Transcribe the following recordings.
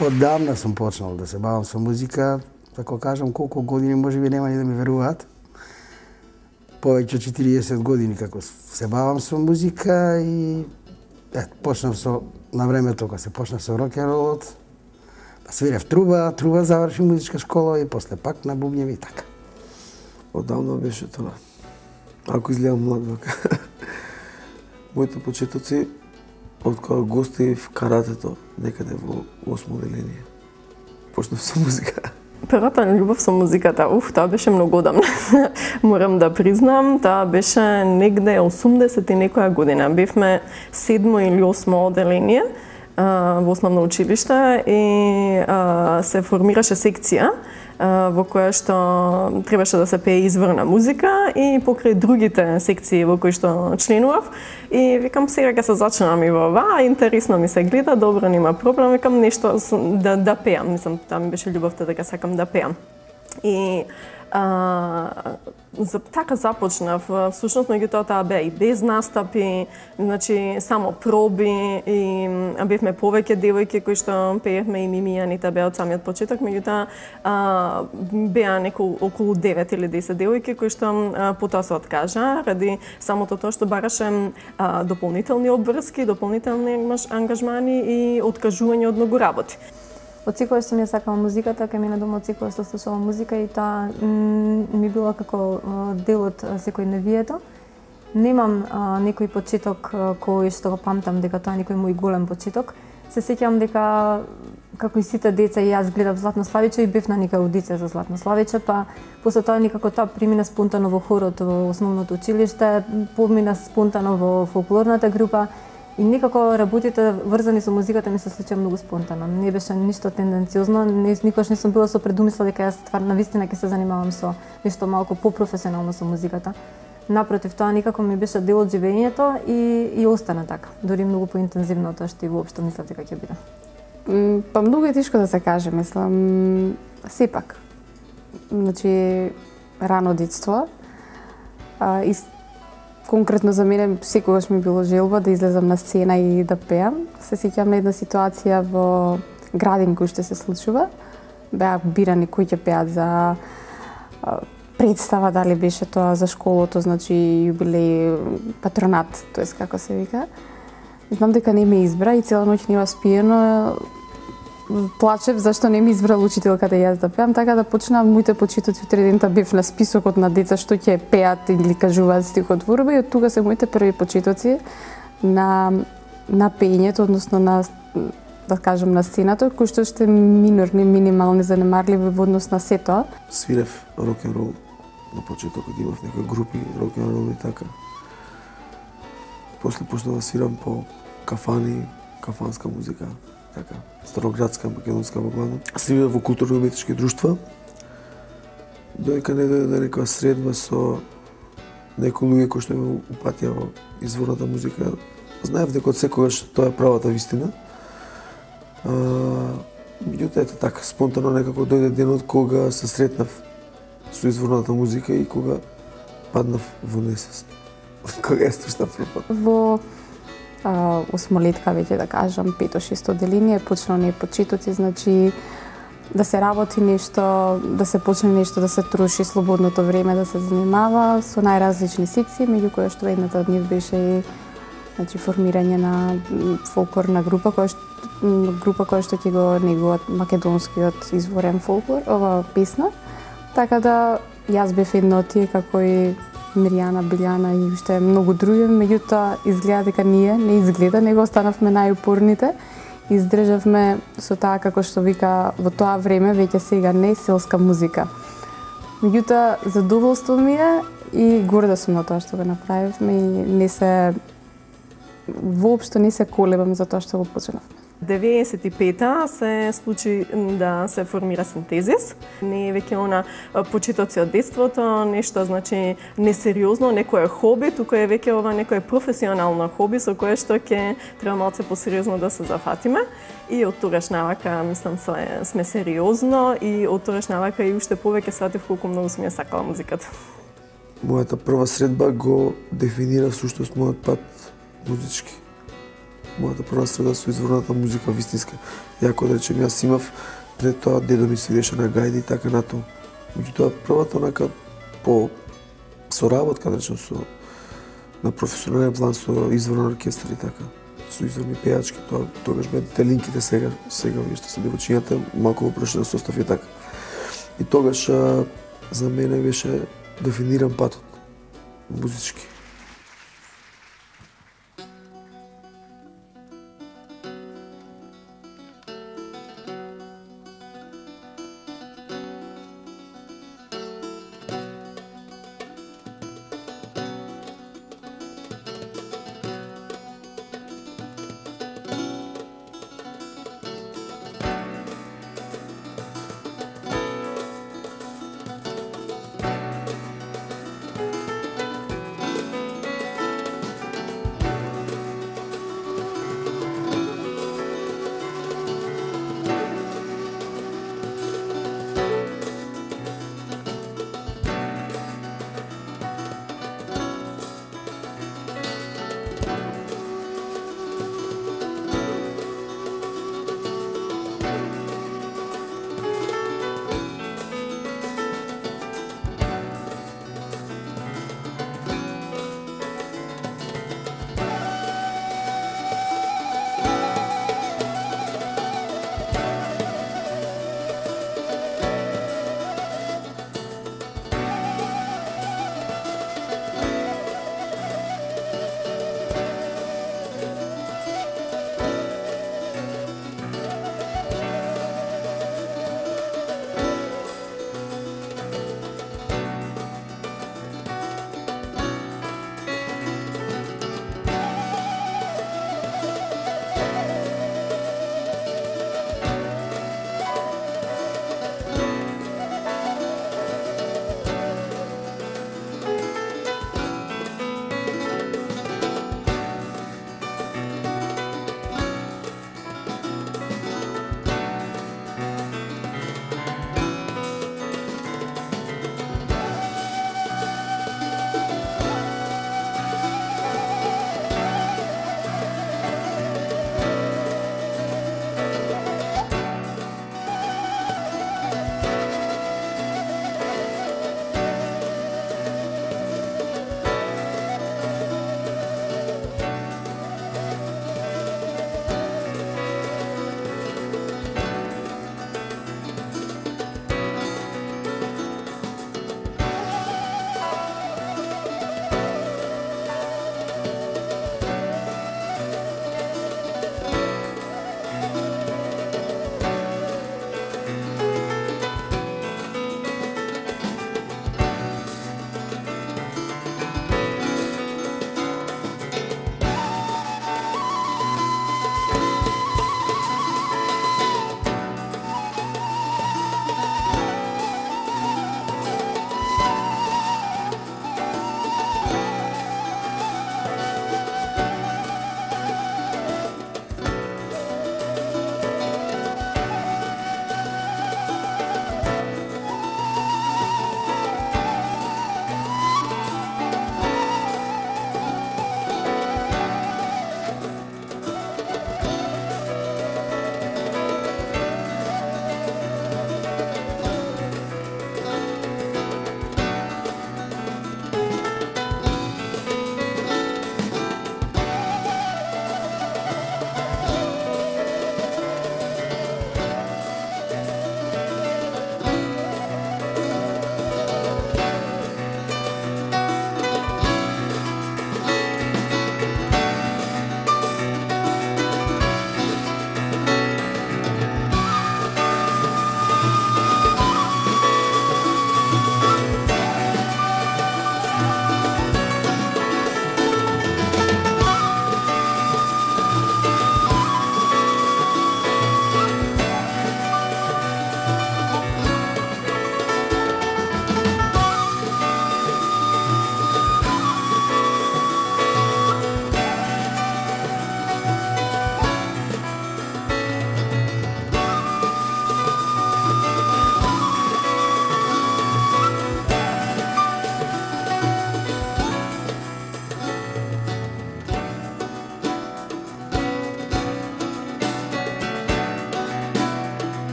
Одамна сум почнал да се бавам со музика, како кажам, колку години можеби нема ни да ми веруваат. Повеќе од 40 години како се бавам со музика и почнав со на времето кога се почна со рок-н-ролот. Па свирев труба заврши музичка школа и после пак на бубњеви и така. Одамна беше тоа. Ако изгледам млад вака. Моите почетоци од кога гостив каратето некаде во 8 оделение. Почнав со музика. Првата љубов со музиката, тоа беше многу одамна. Морам да признам, тоа беше негде 80 и некоја година. Бевме 7 или 8 оделение во основно училиште и се формираше секција во која што требаше да се пее изворна музика и покрај другите секции во кои што членував. И викам, сега ќе се зачнам и во ова, интересно ми се гледа, добро, нема проблем, викам нешто да пеам, мислам, таа ми беше љубовта дека сакам да пеам. И така започнав, всушност меѓутоа таа беа и без настапи, значи само проби и бевме повеќе девојки кои што пеевме и Мими и Анита беа од самиот почеток, меѓутоа беа околу 9 или 10 девојки кои што потоа се откажа ради самото тоа што бараше дополнителни обврски, дополнителни ангажмани и откажување од многу работи. Од секој што ми сакала музиката, кај мене дома од секој што слушала музика и тоа ми било како дел од секојдневието. Немам некој почеток кој што го памтам дека тоа е некој мој голем почеток. Се сеќавам дека како и сите деца и јас гледав Златно Славиче и бев на нека аудиција за Златно Славиче, па после тоа некако тоа премина спонтано во хорот во основното училиште, помина спонтано во фолклорната група. И некако работите врзани со музиката ми се случија многу спонтано. Не беше ништо тенденциозно, никош не сум била со предумисла дека јас стварно навистина ќе се занимавам со нешто малку попрофесионално со музиката. Напротив, тоа некако ми беше дел од живењето и остана така. Дори многу поинтензивно од тоа што и воопшто мислев дека ќе биде. Па многу е тешко да се каже, мислам, сепак. Значи, рано детство. Конкретно за мене секогаш ми било желба да излезам на сцена и да пеам. Се сеќавам на една ситуација во градин кој што се случува. Беа бирани кои ќе пеат за представа, дали беше тоа за школото, значи јубилеј, патронат, тоест како се вика. Знам дека не ме избра и цела ноќ не спиено плачев зашто не ми избрал учителката јас да пеам, така да почнав моите почетоци утре дента бев на списокот на деца што ќе пеат или кажуваат стихотворба и од тука се моите први почетоци на пеењето, односно на да кажам на сцената, кои што ще минорни, минимални, занемарливи во однос на сето. Свирев рок-н-рол на почетокот, имав некои групи рок-н-рол и така. После почнав да свирам по кафани, кафанска музика. Така, староградска, македонска во главно. Свирев во културно-уметнички друштва. Доека не дојде некоја средба со некои луѓе кои што ме упатија во изворната музика. Знаев дека од секогаш тоа е правата вистина. Меѓутоа ете така, спонтано некако дојде денот кога се сретнав со изворната музика и кога паднав во несвест. Кога ја слушнав прв пат. Во осмолетка, веќе да кажам, 5-6 оделение, почнал не почетоци, значи да се работи нешто, да се почне нешто, да се троши слободното време, да се занимава со најразлични секции, меѓу кои што едната од нив беше и значи формирање на фолклорна група која што ќе го негуваат македонскиот изворен фолклор, ова песна. Така да јас бев една од тие како и Миријана, Билјана и уште многу други, меѓутоа изгледа дека ние не изгледа, него останавме најупорните. Издржавме со таа како што вика во тоа време, веќе сега не селска музика. Меѓутоа задоволство ми е и горда сум на тоа што го направивме и воопшто не се колебам за тоа што го почнавме. 95-та се случи да се формира Синтезис. Не е веќе она почетоци од детството, нешто значи несериозно, некое хоби, туку е веќе ова некое професионално хоби со кое што ќе треба малце посериозно да се зафатиме. И од тогаш навака, мислам, сме сериозно и од тогаш навака и уште повеќе сватив колку многу сум ја сакала музиката. Мојата прва средба го дефинира всушност мојот пат музички. мојата прва среда со изворната музика вистинска. Јако да речем, јас имав пред тоа дедо ми свиреше на гајди и така натаму. Меѓутоа првата онака по соработка, да речем, со на професионален план со изворен оркестар и така, со изворни пејачки, тогаш беа телинките, сега вие што се девојчињата, малку прошли на состав и така. И тогаш за мене беше дефиниран патот музички.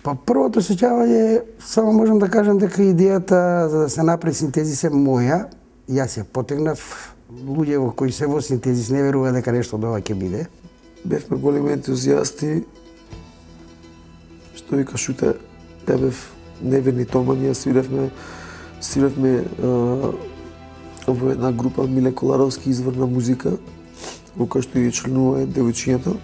Па првото сеќавање, само можам да кажам дека идејата за да се направи синтезис е моја. Јас ја потегнав, луѓе во кои се во синтезис не верува дека нешто од ова ќе биде. Бевме големи ентузијасти, што вика Шуте, ја бев неверни томани, свиревме во една група Миле Коларовски Изворна музика, во која што и членува девојчињето,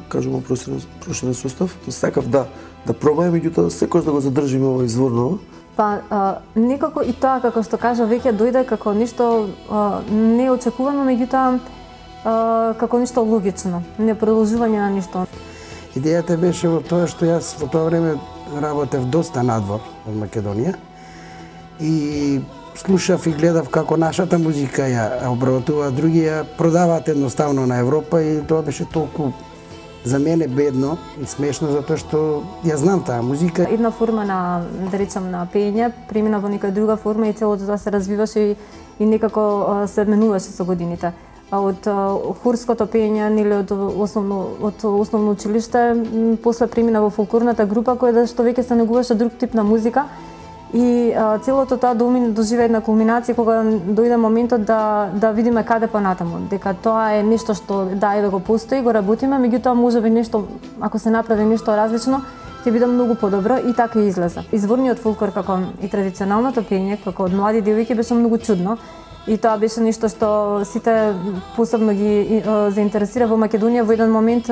кажемо проширен состав. Сакав да пробајам, меѓутоа секојаш да го задржиме ова изворно. Па некако и тоа, како што кажа, веќе дојде како нешто неочекувано, меѓутоа како нешто логично, не продолжување на нешто. Идејата беше во тоа што јас во тоа време работев доста надвор од Македонија и слушав и гледав како нашата музика ја обработува, други ја продаваат едноставно на Европа и тоа беше толку за мене бедно и смешно затоа што ја знам таа музика. Една форма на, да речам, на пеење премина во некоја друга форма и целото тоа се развиваше и некако се менуваше со годините. Од хорското пеење, нели од основно училиште, после премина во фолклорната група која што веќе се негуваше друг тип на музика. И целото тоа доживе една кулминација кога дојде моментот да видиме каде понатаму, дека тоа е нешто што еве го постои, го работиме, меѓутоа можеби нешто, ако се направи нешто различно, ќе биде многу подобро и така и излезе. Изворниот фолклор како и традиционалното пеење, како од млади девојки, беше многу чудно. И тоа беше нешто што сите посебно ги заинтересира во Македонија. Во еден момент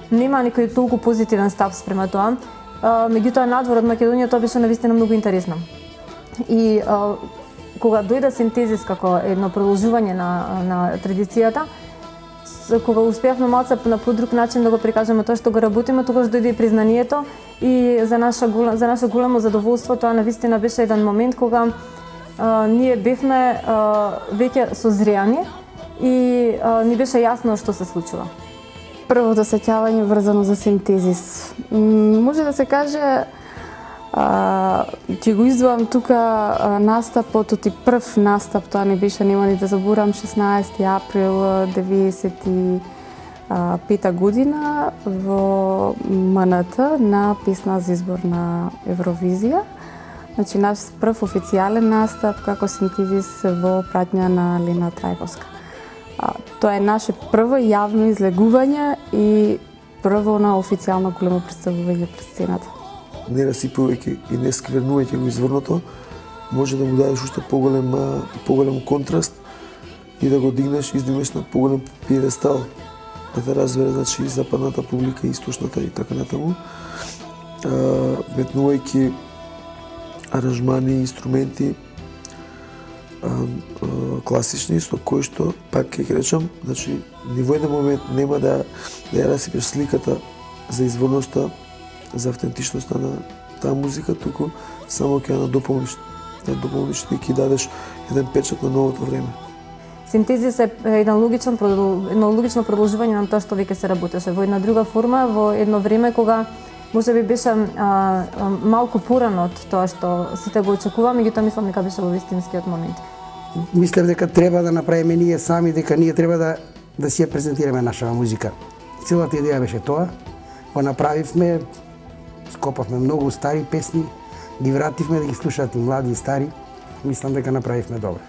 нема некој толку позитивен став спрема тоа. Меѓутоа надвор од Македонија тоа беше навистина многу интересно. И кога дојде синтезис како едно продолжување на традицијата, кога успеавме малце на подруг начин да го прикажеме тоа што го работиме, тогаш дојде и признанието и за наше големо задоволство тоа навистина беше еден момент кога ние бевме веќе созреани и ни беше јасно што се случува. Првото сеќавање врзано за синтезис. Може да се каже, ќе го издвоам тука настапот, оти прв настап, тоа не беше, нема ни да заборам, 16 април 95 година во МНТ на песна за избор на Евровизија. Значи, наш прв официјален настап како синтезис во пратња на Лена Трајковска. Тоа е наше прво јавно излегување и прво на официјално големо представување пред сцената. Не расипувајќи и не сквернувајќи го изворното, може да му дадеш уште поголем контраст и да го издигнеш на поголем пиедестал, да те разбере, значи, и западната публика, и источната и така натаму, метнувајќи аранжмани, инструменти класични, со кои што, пак ќе речам, значи, ни во еден момент нема да ја расипеш сликата за изворноста, за автентичноста на таа музика, туку само ќе ја надополниш и ќе дадеш еден печат на новото време. Синтезис е едно логично продолжување на тоа што веќе се работеше во една друга форма, во едно време кога можеби беше малку порано од тоа што сите го очекуваме, меѓутоа мислам дека беше во вистинскиот момент. Мислев дека треба да направиме ние сами, дека ние треба да си ја презентираме нашава музика. Целата идеја беше тоа. Го направивме, скопавме многу стари песни, ги вративме да ги слушаат и млади и стари. Мислам дека направивме добро.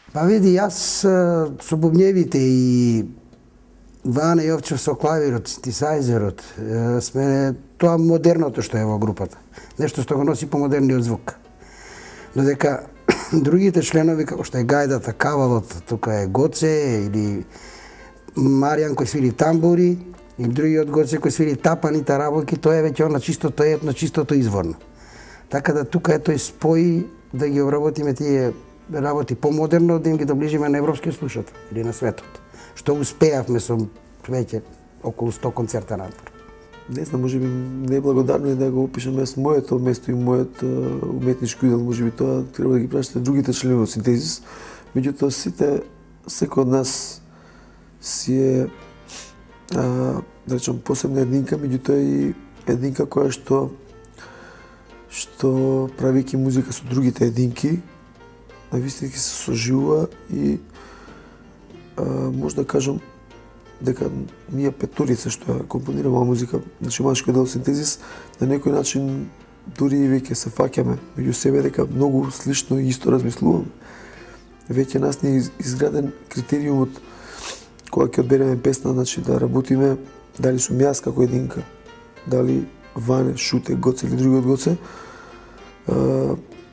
Па види, јас со бубњевите и Ване Јовчев со клавирот, синтесајзерот, сме тоа модерното што е во групата. Нешто што го носи помодерниот звук. Додека другите членови, како што е Гајдата, Кавалот, тука е Гоце или Маријан кој свири тамбури, и другиот Гоце кој свири тапани, тарабоки, тоа е веќе на чистото етно, чистото изворно. Така да тука е тој спој да ги обработиме тие работи помодерно, да им ги доближиме на европскиот слушател или на светот. Што успеавме со веќе околу 100 концерта надвор. Не знам, можеби неблагодарно е да го опишам јас моето место и мојот уметнички удел, можеби тоа треба да ги прашате другите членови од Синтезис. Меѓутоа секој од нас си е да речам посебна единка, меѓутоа и единка која што правејќи музика со другите единки, навистина се соживува и може да кажам дека ние петорица што ја компонираме оваа музика, значи машкиот дел Синтезис, на некој начин дури и веќе се фаќаме меѓу себе дека многу слично и исто размислуваме. Веќе нас не е изграден критериумот кога ќе одбереме песна, значи да работиме дали сум јас како единка, дали Ване, Шуте, Гоце или другиот Гоце.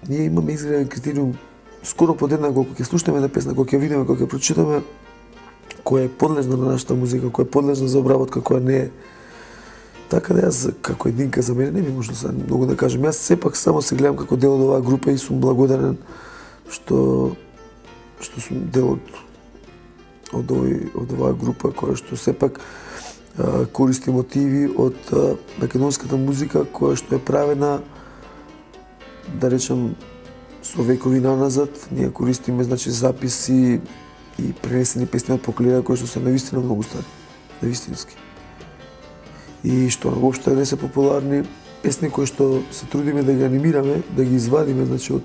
Ние имаме изграден критериум скоро подеднакво кога ќе слушнеме една песна, кога ќе видиме, кога ќе прочитаме, која е подлежна на нашата музика, која е подлежна за обработка, која не е. Така да јас како единка за мене не би можно сега многу да кажам. Јас сепак само се гледам како дел од оваа група и сум благодарен што сум дел од оваа група која што сепак користи мотиви од македонската музика која што е правена, да речем, со векови наназад. Ние користиме, значи, записи и пренесени песни од поколенија кои што се навистина многу стари, навистински. И што воопшто не се популарни песни кои што се трудиме да ги анимираме, да ги извадиме, значи, од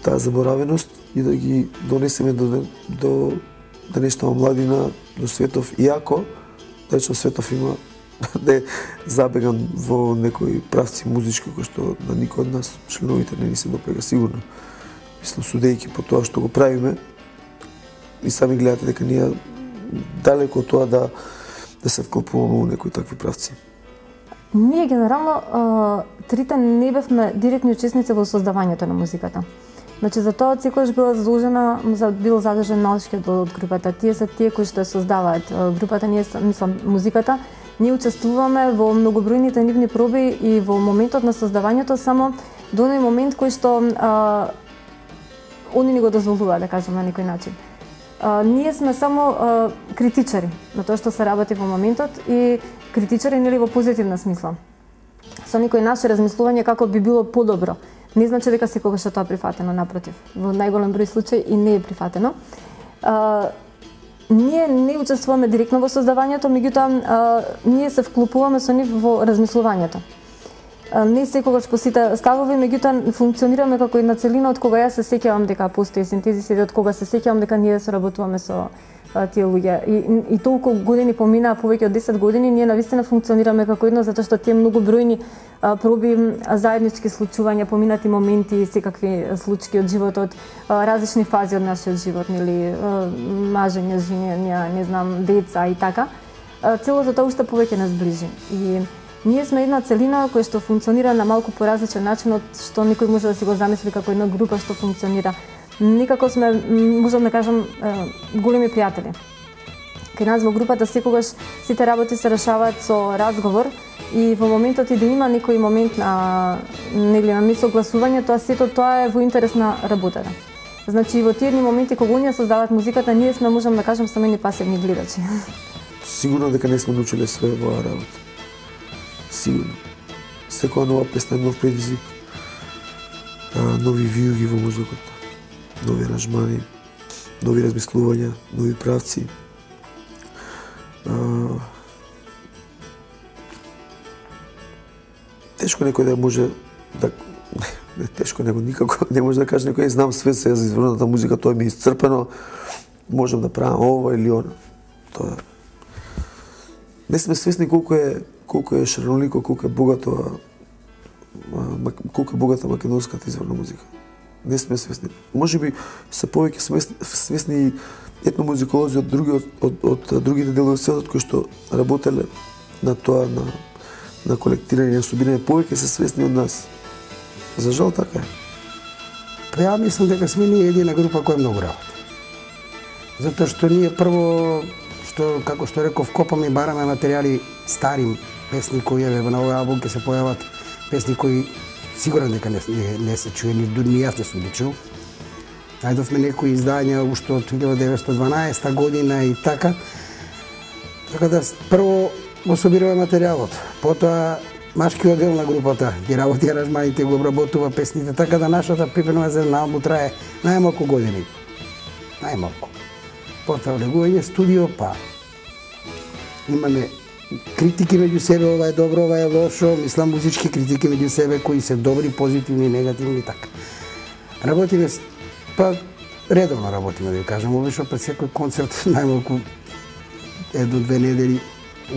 таа заборавеност и да ги донесеме до денешната младина, до светов, иако, да речем, светов има да е забеган во некои правци музички кои што на никој од нас членовите не ни се допега сигурно. Мислам, судејќи по тоа што го правиме, и сами гледате дека ние далеко од тоа да се вклопуваме во некои такви правци. Ние генерално трите не бевме директни учесници во создавањето на музиката. Значи за тоа секогаш бил задолжен малшкиот дел од групата. Тие се тие кои што ја создаваат групата, ние мислам музиката. Ние учествуваме во многобројните нивни проби и во моментот на создавањето само до оној момент кој што они ни го дозволуваат, да кажам на некој начин. Ние сме само критичари на тоа што се работи во моментот и критичари нели во позитивна смисла. Со некои наши размислувања како би било подобро. Не значи дека секогаш е тоа прифатено, напротив. Во најголем број случаи и не е прифатено. Ние не учествуваме директно во создавањето, меѓутоа ние се вклопуваме со нив во размислувањето. Не секогаш по сите ставови, меѓутоа функционираме како една целина од кога јас се сеќавам дека постои Синтезис и од кога се сеќавам дека ние соработуваме со тие луѓе. И толку години поминаа, повеќе од 10 години, ние навистина функционираме како едно, затоа што тие многобројни проби, заеднички случувања, поминати моменти, секакви случаи од животот, различни фази од нашиот живот, нели, мажење, женење, не знам, деца и така. Целото тоа уште повеќе нас ближи. И ние сме една целина која што функционира на малку поразличен начин од што никој може да си го замисли како една група што функционира. Никако сме, можам да кажам, големи пријатели. Кај нас во групата секогаш сите работи се решаваат со разговор и во моментот и да има некој момент на несогласување, сето тоа е во интерес на работата. Значи во тие моменти кога оние создаваат музиката, ние сме, можам да кажам, самени пасивни гледачи. Сигурно дека не сме научиле све во оваа работа. Сигурно. Секоја нова песна е нов предизвик, нови виуги во музиката, нови аранжмани, нови размислувања, нови правци. Тешко некој да може да... Тешко никако не може да каже некој знам све се за изворната музика, тоа ми е исцрпено, можам да правам ова или она. Тоа... Не сме свесни колку е шаролико, колку е богата македонската изворна музика. Не сме свесни. Можеби се повеќе свесни етномузиколози од другите делови од светот кои што работеле на тоа на колектирање и собирање, повеќе се свесни од нас. За жал така е. Па ја мислам дека сме ние едина група која многу работи. Затоа што ние прво, како што реков, копаме и бараме материјали стари песни кои на овој албум ќе се појават песни кои сигурно дека не се чуе, ни јас не сум ги чул. Најдовме некои издања уште од 1912 година и така. Така да прво го собираме материјалот, потоа машкиот дел на групата ги работи аранжманите, го обработува песните, така да нашата припрема за една албум трае најмалку години. Најмалку. Потоа влегување студио, па имаме критики меѓу себе, ова е добро, ова е лошо, мислам музички критики меѓу себе кои се добри, позитивни, негативни и така. Работиме, па редовно работиме, да ви кажам, обично пред секој концерт најмалку 1-2 недели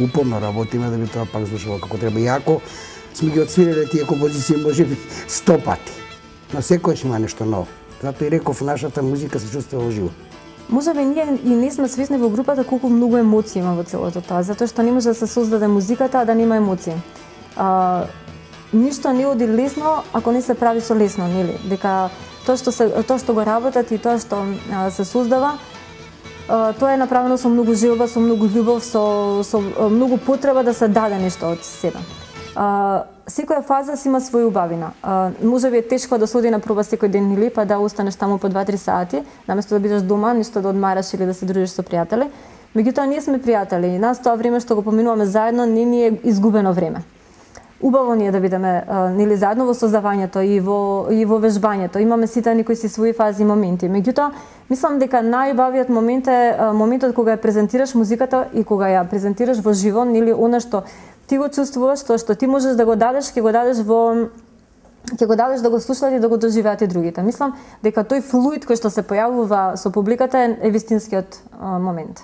упорно работиме да би тоа пак звучало како треба. Иако сме ги отсвириле тие композиции можеби 100 пати, но секојаш има нешто ново. Затоа и реков, нашата музика се чувствува живо. Можеби ние и не сме свесни во групата колку многу емоции има во целото тоа, затоа што не може да се создаде музиката а да нема емоции. Ништо не оди лесно ако не се прави со лесно, нели? Дека тоа што го работат и тоа што се создава, тоа е направено со многу желба, со многу љубов, со многу потреба да се даде нешто од себе. Секоја фаза си има своја убавина. Можеби е тешко да се оди на проба секој ден или па да останеш таму по 2-3 сати, наместо да бидеш дома, ништо да одмараш или да се дружиш со пријатели. Меѓутоа ние сме пријатели и нас тоа време што го поминуваме заедно не ни е изгубено време. Убаво ни е да бидеме нели заедно во создавањето и во вежбањето. Имаме сите некои си своји фази и моменти. Меѓутоа, мислам дека најубавиот момент е моментот кога ја презентираш музиката и кога ја презентираш во живо, нели она што ти го чувствуваш, тоа што ти можеш да го дадеш, ќе го дадеш да го слушаат и да го доживеат и другите. Мислам дека тој флуид кој што се појавува со публиката е вистинскиот момент.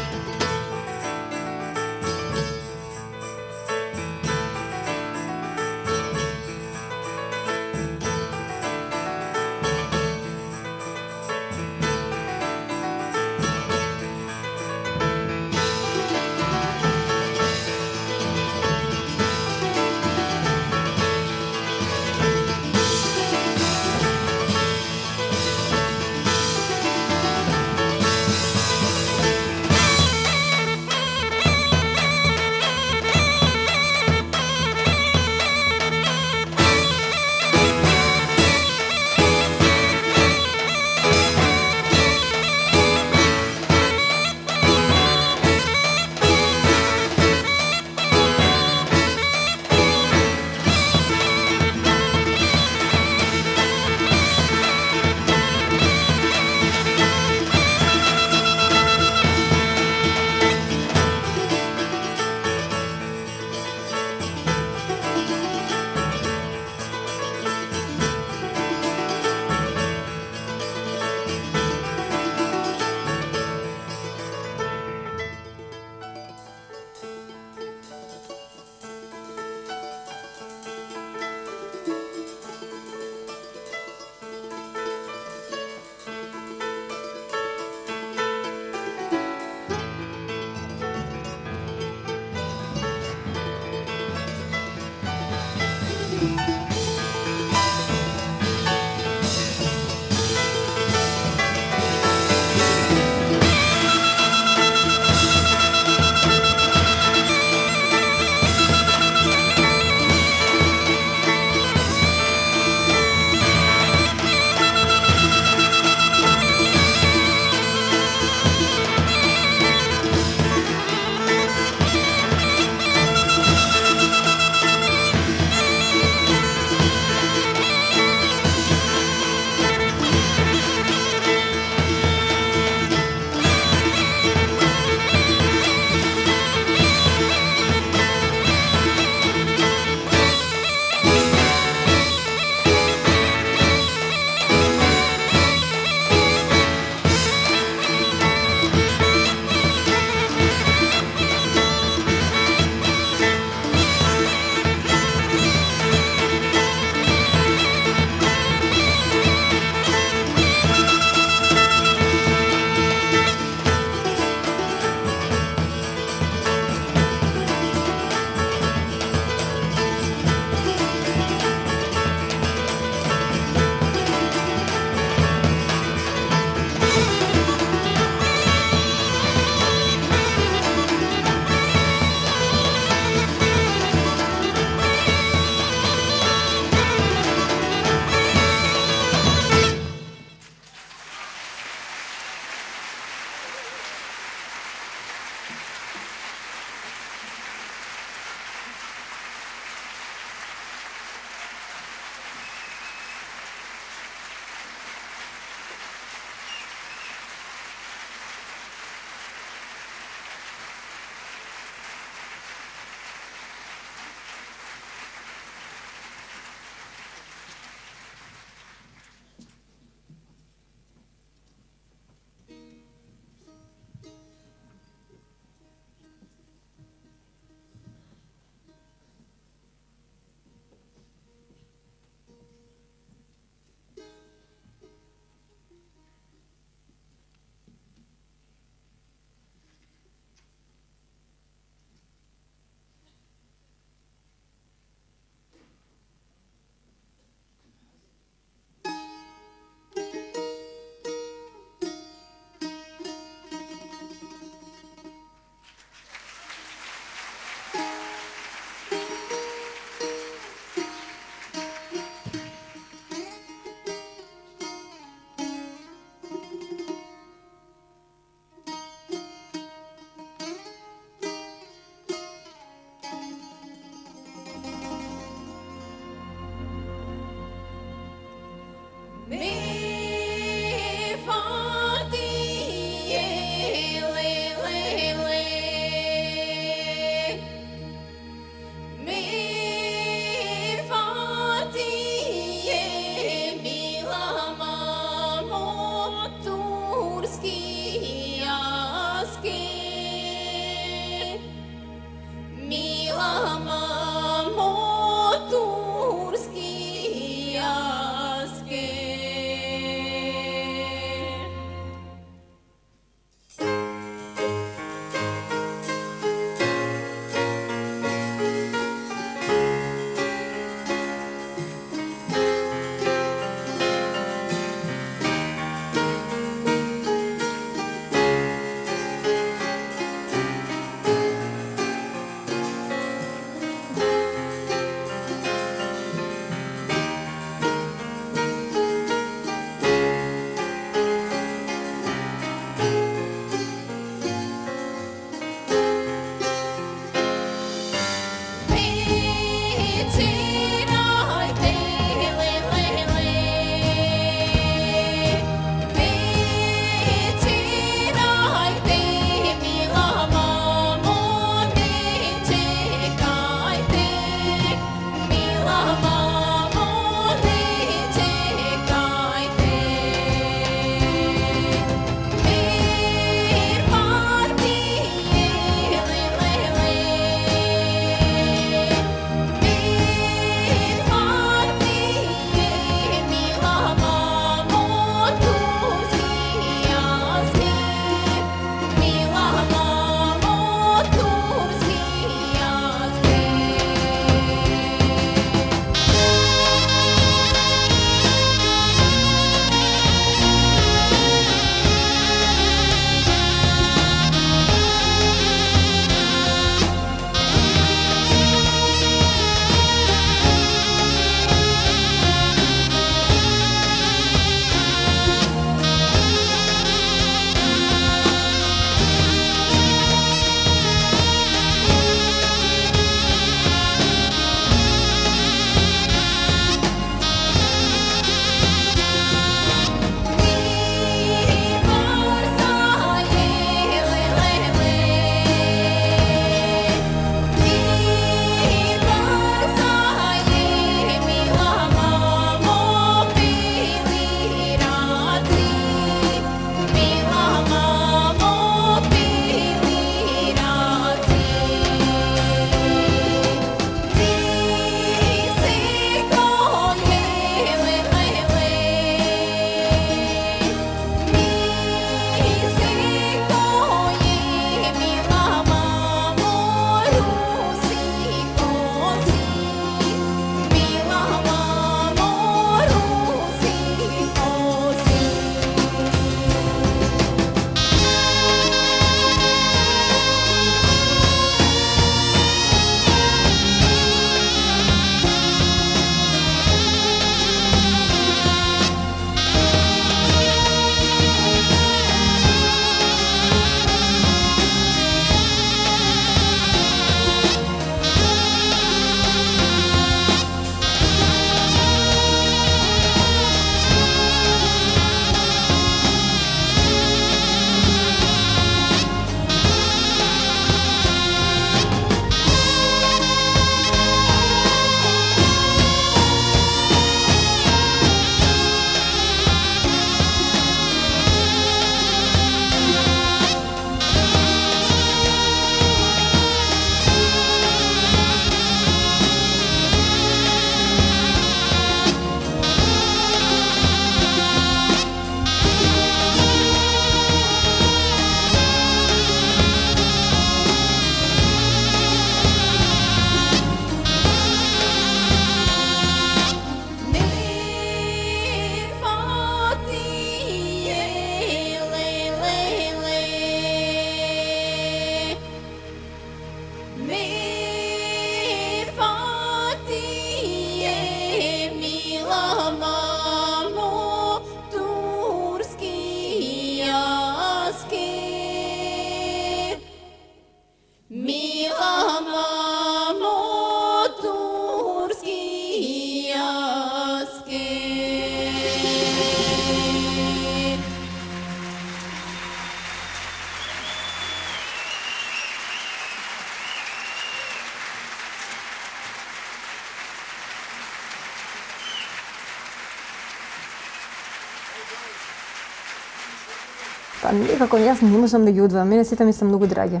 Па некако јас не можам да ги одвојам, мене сите ми се многу драги.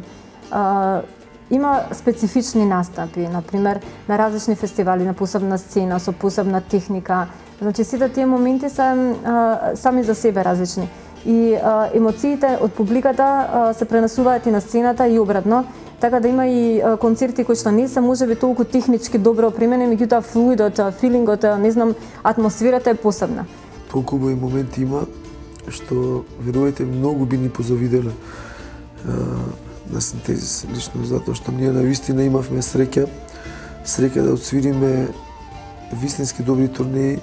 Има специфични настапи, например на различни фестивали, на посебна сцена, со посебна техника. Значи сите тие моменти се сами за себе различни. И емоциите од публиката се пренесуваат и на сцената и обратно. Така да има и концерти кои што не се можеби толку технички добро опремени, меѓутоа флуидот, филингот, не знам, атмосферата е посебна. Толку убави моменти има што верувајте многу би ни позавиделе на Синтезис лично, затоа што ние навистина имавме среќа да отсвириме вистински добри турнеи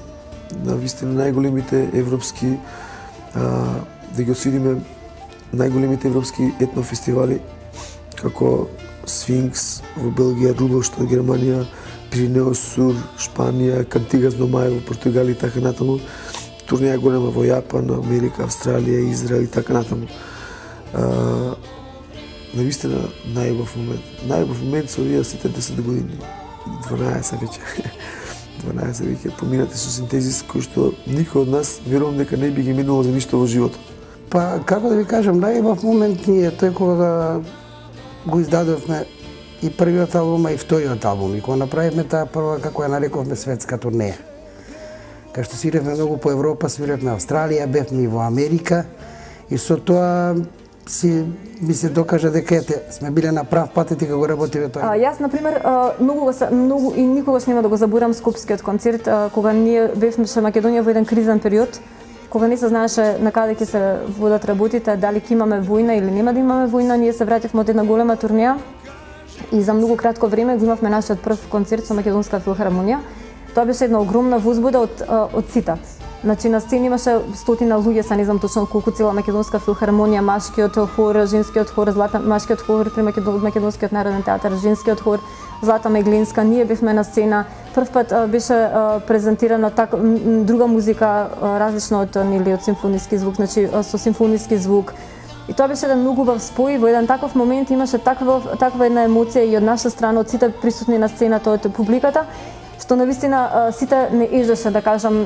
на вистина најголемите европски, да ги освириме најголемите европски етнофестивали како Сфинкс во Белгија, Рудолшт од Германија, Пиринеос Сур, Шпанија, Кантигас до Мај во Португалија и така натаму. Турнеја голема во Јапан, Америка, Австралија, Израел и така натаму. Навистина најубав момент. Најубав момент со овие сите 10 години. 12 веќе. 12 веќе поминати со Синтезис, кој што никој од нас верувам дека не би ги минувал за ништо во животот. Па, како да ви кажам, најубав момент ни е тој кога го издадовме и првиот албум, и вториот албум. И кога направивме таа прва, како ја нарековме, светска турнеја. Кај што свиревме многу по Европа, свиревме Австралија, бевме и во Америка. И со тоа ми се докажа дека сме биле на прав пат и дека го работиме тоа. Јас, например, многу и никогаш нема да го заборам Скопскиот концерт, кога ние бевме со Македонија во еден кризен период, кога не се знаеше на каде ќе се водат работите, дали ќе имаме војна или нема да имаме војна, ние се вративме од една голема турнеја и за многу кратко време го имавме нашиот прв концерт со Македонска филхармонија. Тоа беше една огромна возбуда од сите. Значи на сцена имаше стотина луѓе, не знам точно колку, цела Македонска филхармонија, машкиот хор, женскиот хор, машкиот хор при Македонскиот народен театар, женскиот хор, Злата Меглинска, ние бевме на сцена. Прв пат беше презентирана друга музика, различна од симфониски звук, значи со симфониски звук. И тоа беше еден многу убав спој, во еден таков момент имаше таква една емоција и од наша страна, од сите присутни на сцената, од публиката, што навистина сите не ежеше, да кажам,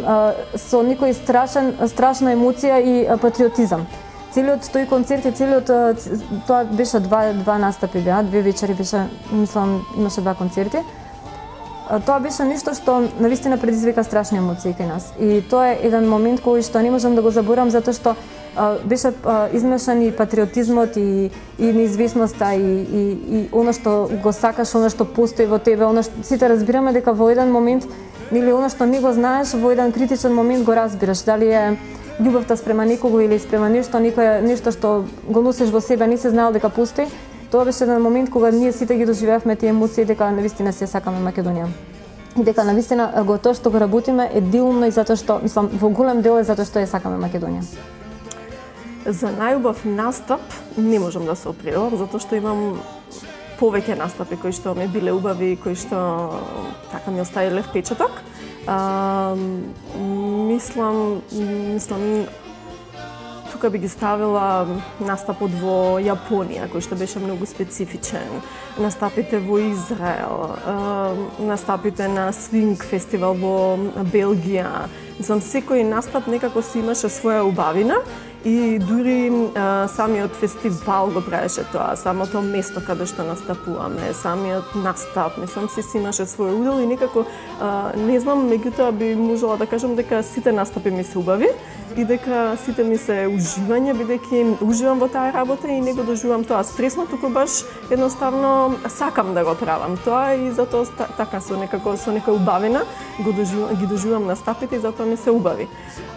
со некој страшна емоција и патриотизам. Целиот тој концерт и целиот тоа беше два настапи беа, 2 вечери беше, мислам, имаше 2 концерти. Тоа беше нешто што навистина предизвика страшни емоции кај нас. И тоа е еден момент кој што не можам да го заборам затоа што беше измешан и патриотизмот и неизвестноста и она што го сакаш, она што постои во тебе, она што сите разбираме дека во еден момент или она што не го знаеш во еден критичен момент го разбираш, дали е љубовта спрема некого или спрема нешто што го носиш во себе, не се знаел дека постои. Тоа беше еден момент кога ние сите ги доживеавме тие емоции дека навистина се сакаме Македонија. И дека навистина тоа што го работиме е делумно и затоа што, мислам, во голем дел е затоа што ја сакаме Македонија. За најубав настап не можам да се определам, затоа што имам повеќе настапи кои што ми биле убави, кои што така ми оставиле впечаток. Мислам, тука би ги ставила настапот во Јапонија, кој што беше многу специфичен, настапите во Израел, настапите на Свинг фестивал во Белгија. За секој настап некако си имаше своја убавина и дури самиот фестивал го правеше тоа, самото место каде што настапуваме, самиот настап, мислам си имаше свој удел и некако не знам, меѓутоа би можела да кажам дека сите настапи ми се убави и дека сите ми се уживање, бидејќи уживам во таа работа и не го доживам тоа стресно, туку баш едноставно сакам да го правам тоа и затоа така со некоја убавина ги доживам настапите и затоа ми се убави.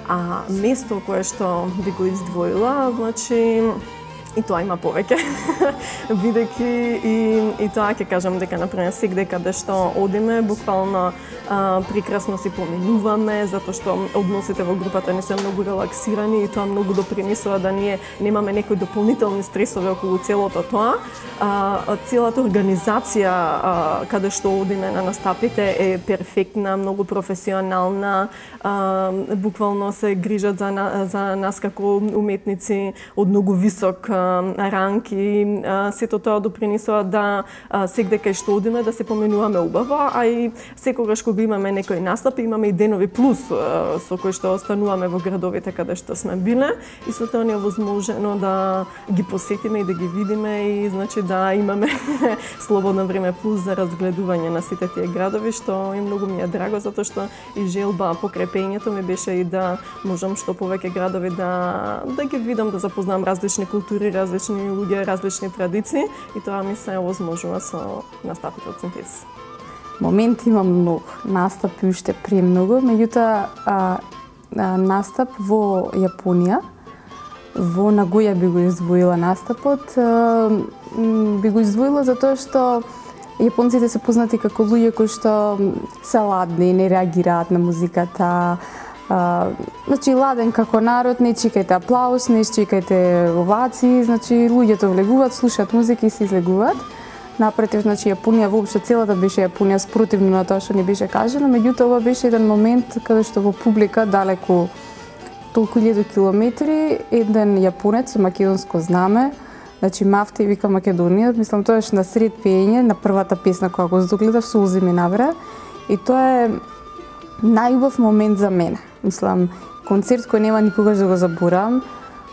А место кое што би го издвоила, значи и тоа има повеќе, бидејќи и тоа ќе кажам дека например сегде каде што одиме, буквално прекрасно си поминуваме, затоа што односите во групата не се многу релаксирани и тоа многу допринесува да ние немаме некои дополнителни стресови околу целото тоа. Целата организација каде што одиме на настапите е перфектна, многу професионална, буквално се грижат за нас како уметници од многу висок ранки, сето тоа допринесува да сегде кај што одиме да се поменуваме убаво, а и секогаш кога имаме некој настап, имаме и денови плюс со кои што остануваме во градовите каде што сме биле и со тоа ни е возможно да ги посетиме и да ги видиме и значи да имаме слободно време плюс за разгледување на сите тие градови, што и многу ми е драго затоа што и желба покрај пеењето ми беше и да можам што повеќе градови да ги видам, да запознам различни култури, различни луѓе, различни традиции и тоа ми се овозможува со настапите од Синтез. Моменти има многу, настапи уште премногу, меѓутоа настап во Јапонија, во Нагоја би го издвоила настапот, би го издвоила затоа што јапонците се познати како луѓе кои што се ладни, не реагираат на музиката. Значи ладен како народ, не чекајте аплауз, не чекајте овации, значи луѓето влегуваат, слушаат музика и се излегуваат. Напротив, значи Јапонија воопшто целата беше Јапонија спротивно на тоа што не беше кажано, меѓутоа ова беше еден момент каде што во публика далеку толку илјади километри еден јапонец со македонско знаме, значи Мафти вика Македонија, мислам тоаш на сред пеење на првата песна која го догледав, сулзи ми навра и тоа е најубав момент за мене. Мислам, концерт кој нема никогаш да го заборавам,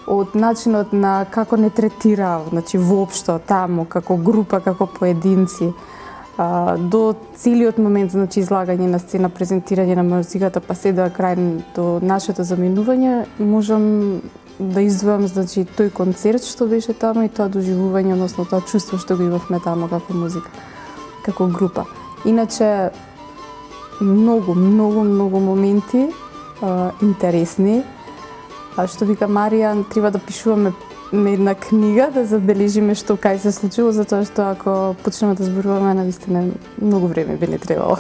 од начинот на како не третира, значи воопшто таму, како група, како поединци, до целиот момент, значи излагање на сцена, презентирање на музиката, па се до крај до нашето заминување, можам да издвојам, значи тој концерт што беше таму и тоа доживување, односно тоа чувство што го имавме таму како музика, како група. Иначе многу моменти интересни. Што вика Маријан, треба да пишуваме една книга, да забележиме што кај се случило, затоа што ако почнеме да зборуваме, навистина многу време би не требало.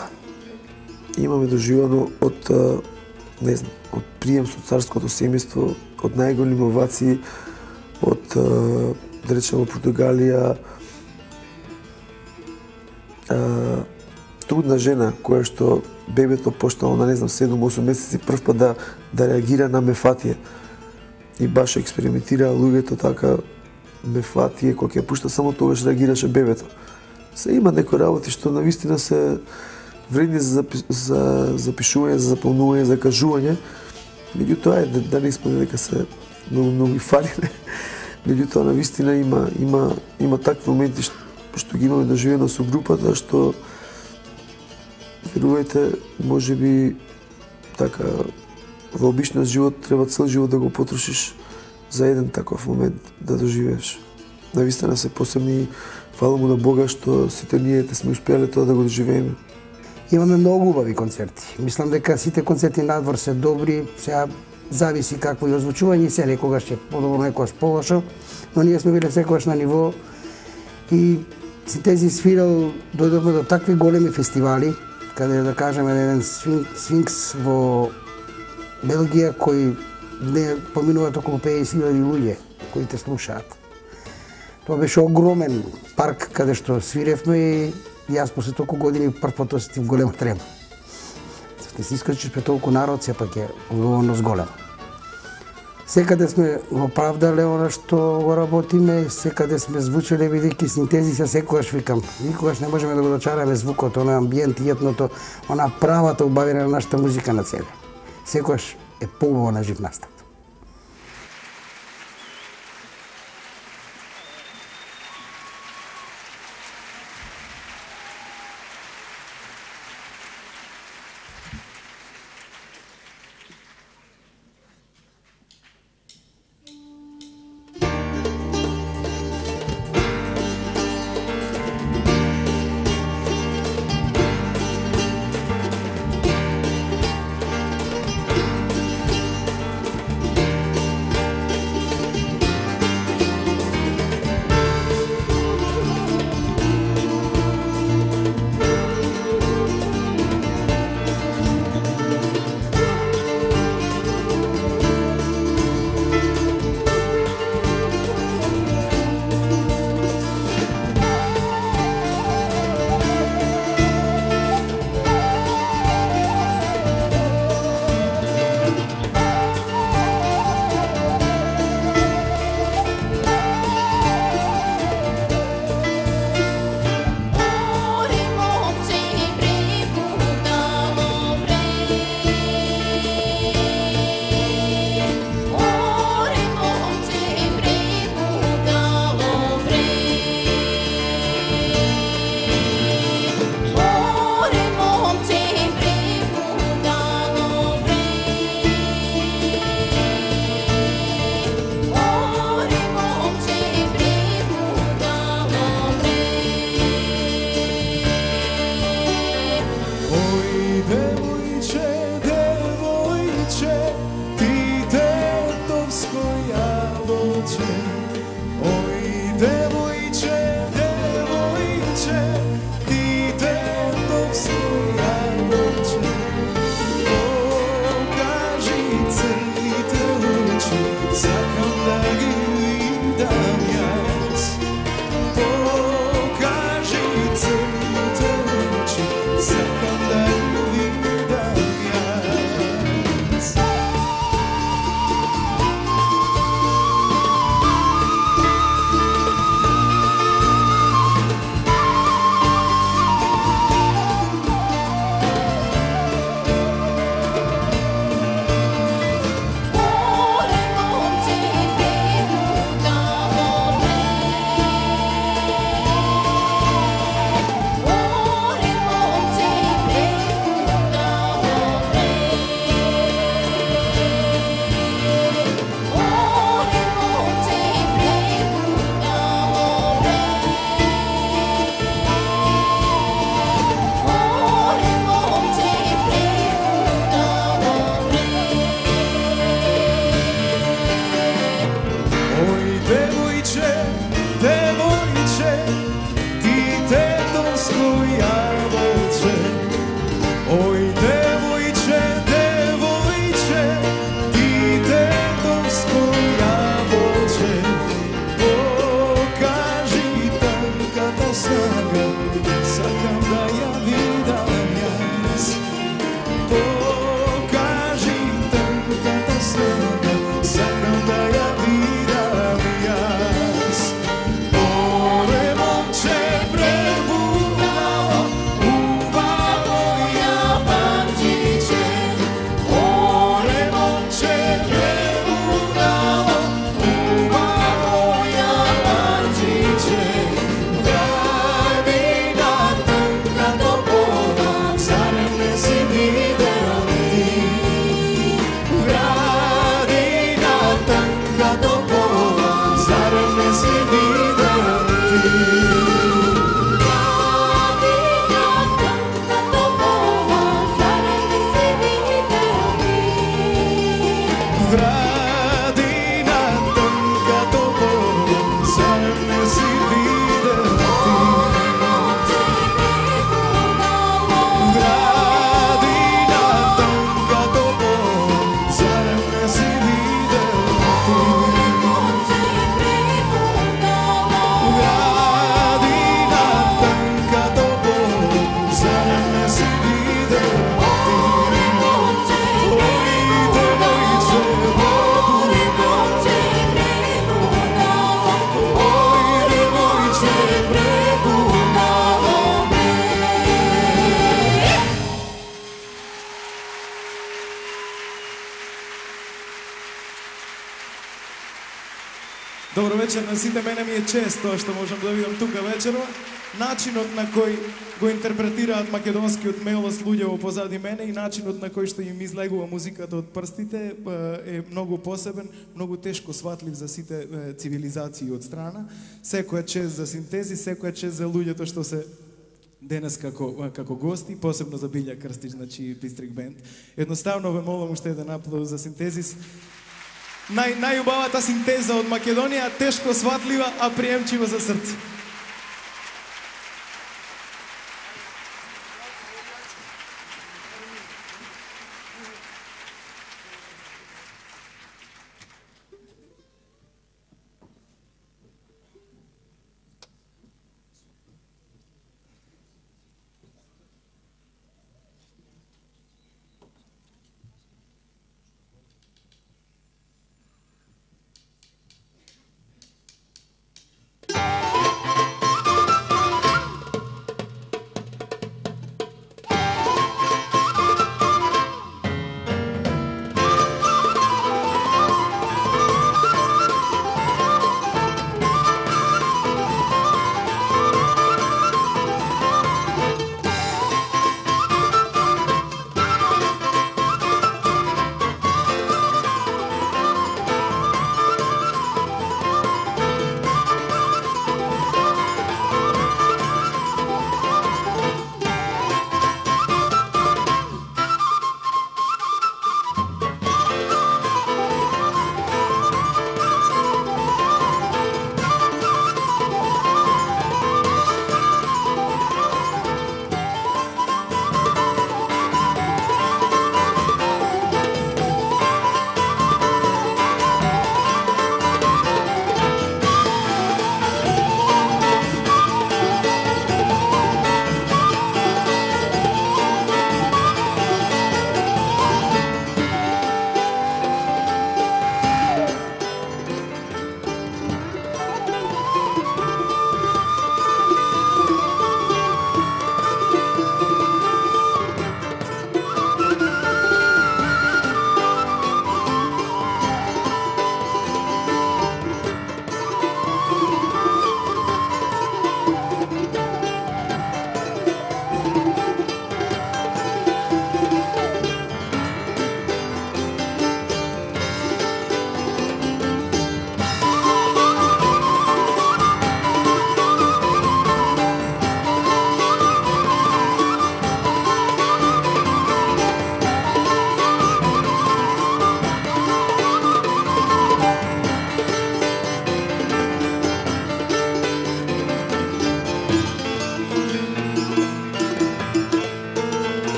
Имаме доживано од, не знам, од прием со царското семејство, од најголеми овации, од, да речеме, Португалија, трудна жена која што бебето поштало на, не знам, 7-8 месеци прв пат да реагира на мефатија. И баш експериментира луѓето така мефатија, кога ќе пушта само тогаш реагираше бебето. Се има некои работи што навистина се вредни за запишување, за заполнување, за кажување. Меѓутоа е да не испадне дека се многу и фалиме. Меѓутоа навистина има такви моменти што ги имаме доживено со групата што верувајте, можеби така во обичниот живот треба цел живот да го потрошиш за еден таков момент да доживееш. Навистина се посебни, фала му на Бога што сите ние сме успеале тоа да го доживееме. Имаме многу убави концерти. Мислам дека сите концерти надвор се добри, сега зависи какво и озвучување, се некогаш е подобро, некогаш полошо, но ние сме биле секогаш на ниво и Синтези свирал, дојдовме до такви големи фестивали, каде да кажеме еден Сфинкс во Белгија кој не поминуваат околу 50.000 луѓе кои те слушаат. Тоа беше огромен парк каде што свиревме и јас после толку години прв пат осетив голема трема. Не се искачиш пред толку народ, сепак е одговорност голема. Секаде сме го правдале она што го работиме, секаде сме звучеле бидејќи Синтези се секогаш викам. Никогаш не можеме да го дочараме звукот, она амбиент и етното, она правата убавина на нашата музика на себе. Секогаш е поубаво на жив настап. Добро вечер на сите, мене ми е чест тоа што можам да видам тука вечерва. Начинот на кој го интерпретираат македонскиот мелос луѓето позади мене и начинот на кој што им излегува музиката од прстите е многу посебен, многу тешко сватлив за сите цивилизации од страна. Секоја чест за Синтези, секоја чест за луѓето што се денес како гости, посебно за Билја Крстич, значи Бистрик Бенд. Едноставно ве молам уште еден аплауз за Синтезис. Најубавата синтеза од Македонија, тешко сватлива, а приемчива за срце.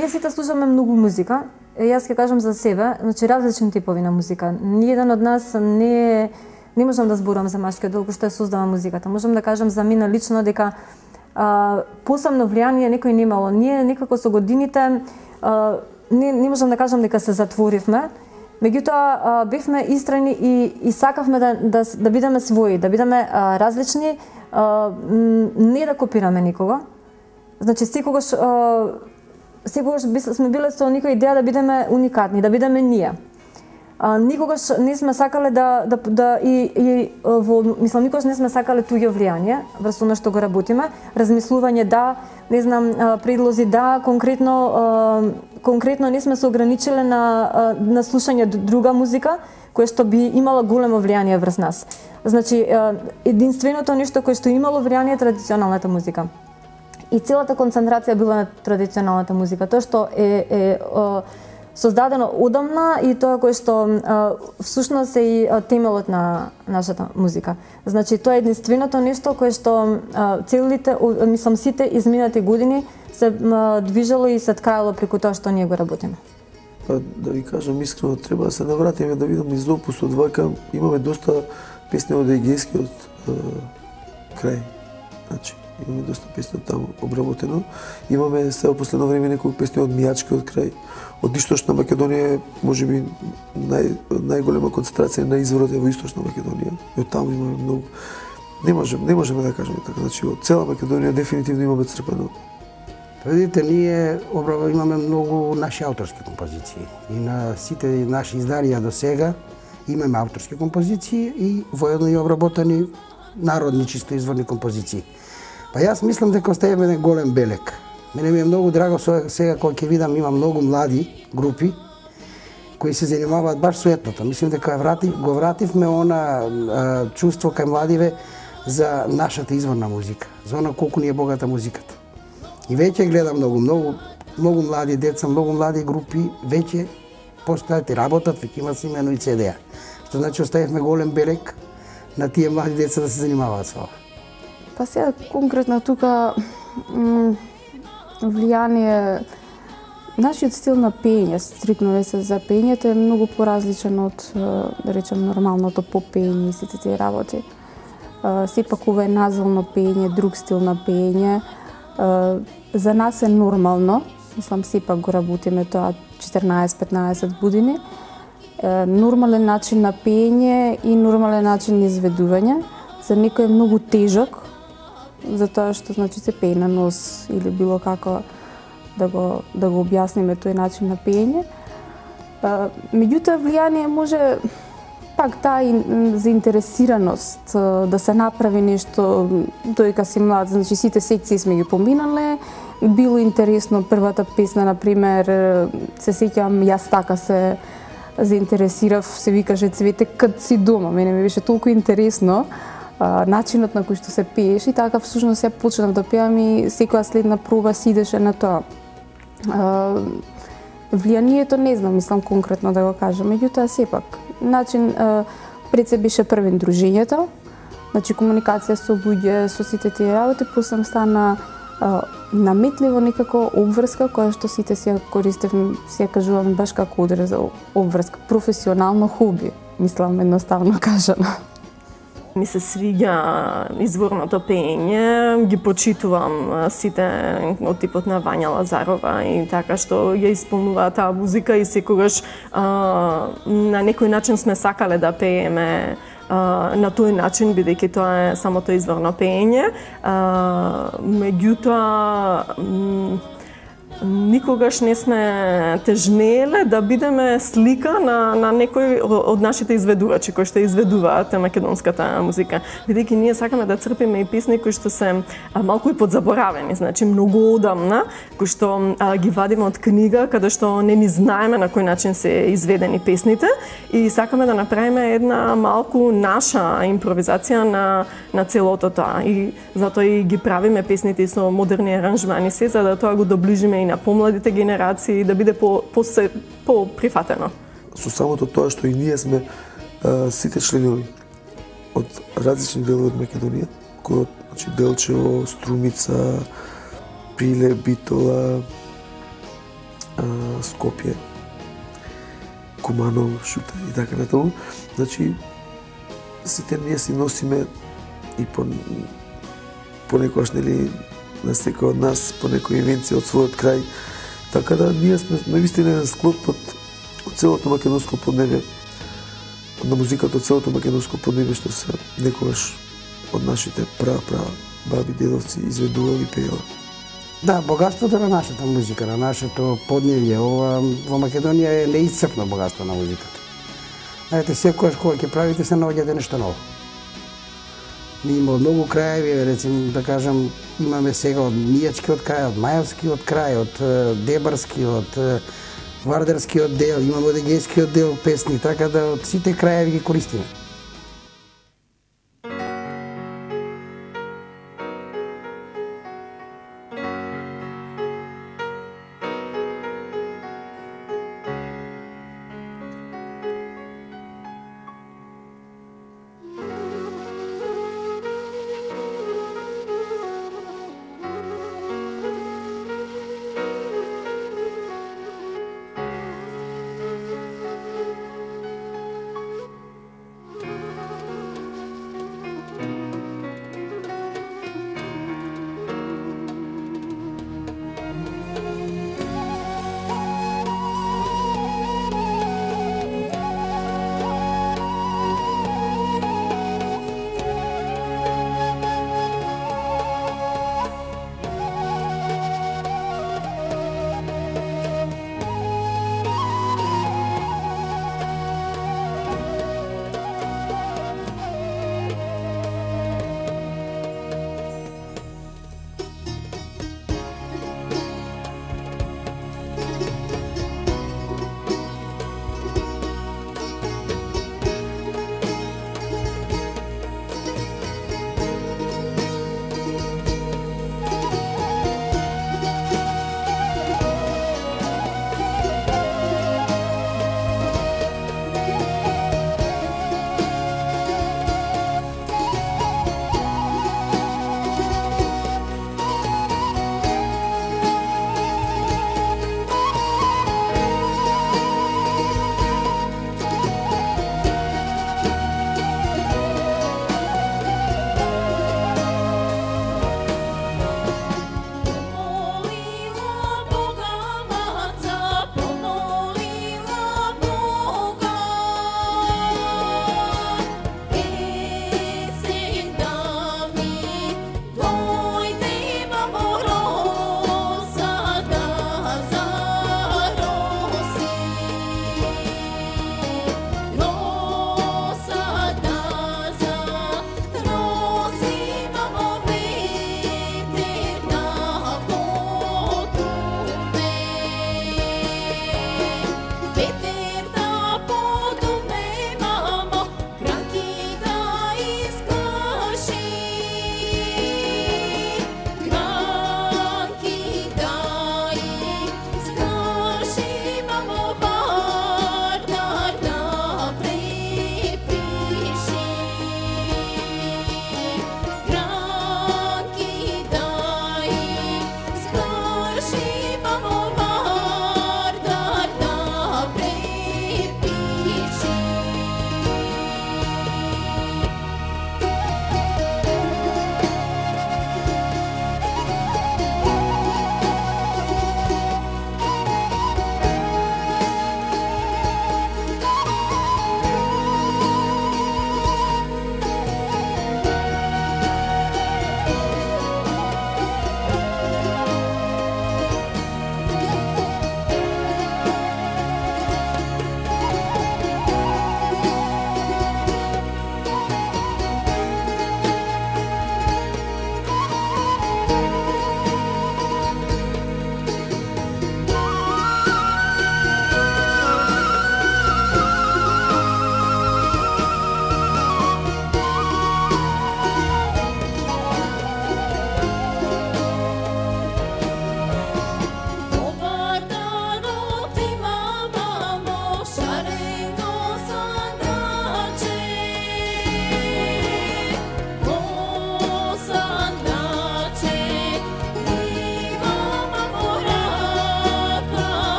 Ние сите слушаме многу музика. Јас ќе кажам за себе, значи различни типови на музика. Ниеден од нас не можам да зборам за машкиот дел кој што ја создава музиката. Можам да кажам за мене лично дека посебно влијание некој немало. Ние некако со годините не можам да кажам дека се затворивме, меѓутоа бевме истрени и сакавме да бидеме своји, да бидеме различни, не да копираме никого. Значи секогаш сме биле со некоја идеја да бидеме уникатни, да бидеме ние. Никогаш не сме сакале никогаш не сме сакале туѓо влијание врз она што го работиме, размислување да, не знам, предлози да, конкретно не сме се ограничиле на слушање друга музика која што би имала големо влијание врз нас. Значи единственото нешто кое што имало влијание е традиционалната музика. И целата концентрација била на традиционалната музика, тоа што е создадено одамна и тоа кое што всушност е и темелот на нашата музика. Значи тоа е единственото нешто кое што сите изминати години се движело и се ткаело преку тоа што ние го работиме. Па да ви кажам искрено, треба да се навратиме да видам низ опусот вака, имаме доста песни од егејскиот крај. Значи имаме доста песни таму обработено. Имаме сега последно време неколку песни од Мијачкиот крај. Од Источна Македонија можеби најголема концентрација на изворот е во Источна Македонија. И од таму имаме многу. Не можеме да кажеме така, значи од цела Македонија дефинитивно имаме црпено. Видите, ние имаме многу наши авторски композиции и на сите наши изданија до сега имаме авторски композиции и воедно и обработени народни чисто изворни композиции. Па јас мислам дека оставаме еден голем белег. Мене ми е многу драго сега кога ќе видам има многу млади групи кои се занимаваат баш со етното. Мислам дека го вративме она чувство кај младиве за нашата изворна музика, за она колку ни е богата музиката. И веќе гледам многу млади деца, многу млади групи веќе постојат и работат, веќе имат имено и CD-а. Што значи оставивме голем белег на тие млади деца да се занимаваат со ова. Па сега конкретно тука влијание нашиот стил на пење, стрикно се за пењето е многу поразличен од да речем нормалното попење и сите тие работи. Сепак ова е назвално пење, друг стил на пење. За нас е нормално, мислам сепак го работиме тоа 14-15 години. Нормален начин на пење и нормален начин на изведување. За некој е многу тежок, затоа што значи се пее на нос или било како да го објасниме тој начин на пење. Меѓутоа влијание може пак таа заинтересираност да се направи нешто додека си млад, значи сите секции сме ги поминале. Било интересно првата песна, например, се сеќавам јас така се заинтересирав, се викаше Цвете кад си дома. Мене ми беше толку интересно начинот на кој што се пееше и така всушност ја почнав да пеам и секоја следна проба си идеше на тоа. Влијанието не знам, мислам конкретно да го кажам, меѓутоа сепак начин пред се беше првен дружењето, значи комуникација со луѓе, со сите тие работи, после стана наметливо некако обврска која што сите си ја користевме, си ја кажувам баш како одрез обврска, професионално хоби, мислам едноставно кажано. Ми се свиѓа изворното пење, ги почитувам сите од типот на Вања Лазарова и така што ја исполнува таа музика и секогаш на некој начин сме сакале да пееме на тој начин, бидејќи тоа е самото изворно пење. Меѓутоа, никогаш не сме тежнееле да бидеме слика на некој од нашите изведувачи кои што изведуваат македонската музика. Бидејќи ние сакаме да црпиме и песни кои што се малку и подзаборавени, значи многу одамна, кои што ги вадиме од книга каде што не ни знаеме на кој начин се изведени песните и сакаме да направиме една малку наша импровизација на целото тоа. И затоа и ги правиме песните со модерни аранжмани се за да тоа го доближиме и на помладите генерации, да биде по-прифатено. Со самото тоа што и ние сме сите членови од различни делови од Македонија, кои од значи Делчево, Струмица, Прилеп, Битола, Скопје, Куманово, Шута и така натаму. Значи, сите ние си носиме и понекогаш, нели, на секој од нас, по некои инвенција од својот крај. Така да, ние сме навистина еден склоп од целото македонско поднебје, на музиката од целото македонско поднебје, што се некогаш од нашите баби, дедовци изведували и пеела. Да, богатството на нашата музика, на нашето подневје, во Македонија е неисцрпно богатство на музиката. Знаете, секојаш кога ќе правите се наоѓате нешто ново. Ние има од многу крајеви, рецим да кажам, имаме сега од Мијачкиот крај, од Мајовскиот крај, од Дебарскиот, Вардарскиот дел, имаме од Егејскиот дел песни, така да од сите крајеви ги користиме.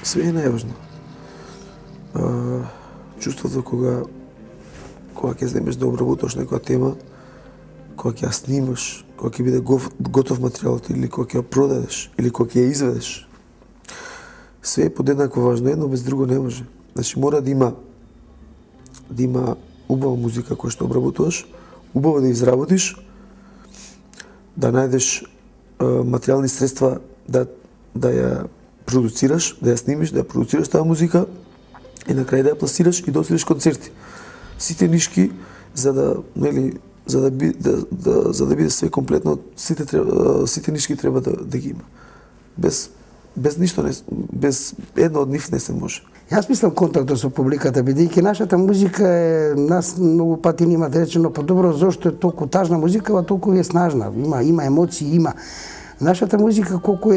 Све е најважно. Чувството кога ќе земеш да обработиш некоја тема, кога ќе ја снимаш, кога ќе биде готов материјалот или кога ќе ја продадеш или кога ќе ја изведеш. Све е подеднакво важно, едно без друго не може. Значи мора да има убава музика која што обработуваш, убаво да изработиш, да најдеш материјални средства да ја продуцираш, да ја снимиш, да ја продуцираш таа музика и на крај да ја пласираш и да освириш концерти. Сите нишки за да биде све комплетно, сите нишки треба да ги има. Без ништо без едно од нив не се може. Јас мислам контактот со публиката, бидејќи нашата музика е, нас многу пати ни имат речено подобро зошто е толку тажна музика, а толку е снажна, има емоции, има. Нашата музика колку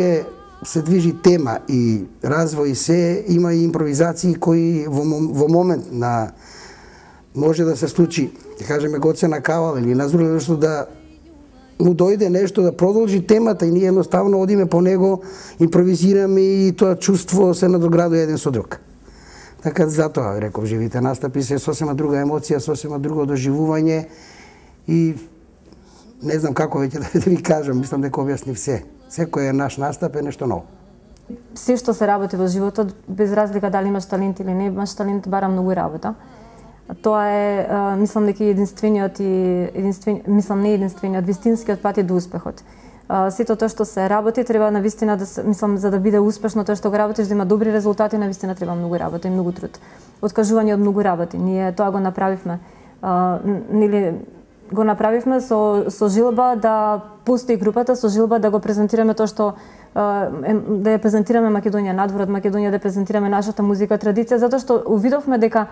се движи тема и развој се, има и импровизации кои во момент на може да се случи, да кажеме Гоце Кавал или Назур нешто да му дојде нешто да продолжи темата и ние едноставно одиме по него, импровизираме и тоа чувство се надоградува еден со друг. Така затоа реков живите настапи се сосема друга емоција, сосема друго доживување и не знам како веќе да ви кажам, мислам дека објаснив се. Секој наш настап е нешто ново. Се што се работи во животот, без разлика дали имаш талент или не имаш талент, бара многу работа. Тоа е, мислам дека единствениот вистинскиот пат е до успехот. Сето тоа што се работи треба навистина да мислам за да биде успешно тоа што го работиш, да има добри резултати, навистина треба многу работа и многу труд. Откажување од многу работи. Ние тоа го направивме. Го направивме со жилба да постои групата, со жилба да го презентираме тоа што да ја презентираме Македонија надвор од Македонија, да презентираме нашата музика, традиција, затоа што увидовме дека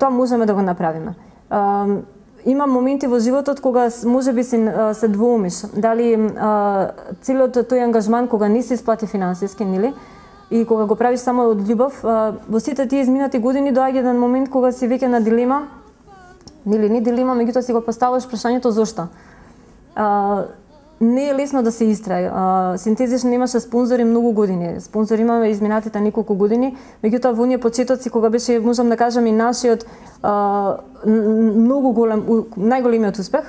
тоа можеме да го направиме. Има моменти во животот кога можеби се двоумиш, дали целиот тој ангажман кога не се исплати финансиски, нели? И кога го правиш само од љубов, во сите тие изминати години доаѓа еден момент кога си веќе на дилема, нели не дилема, меѓутоа си го поставуваш прашањето зошто. Не е лесно да се истраи. Синтезиш немаше спонзори многу години. Спонзори имаме изминатите неколку години, меѓутоа во оние почетоци кога беше, можам да кажам, и нашиот многу голем, најголемиот успех,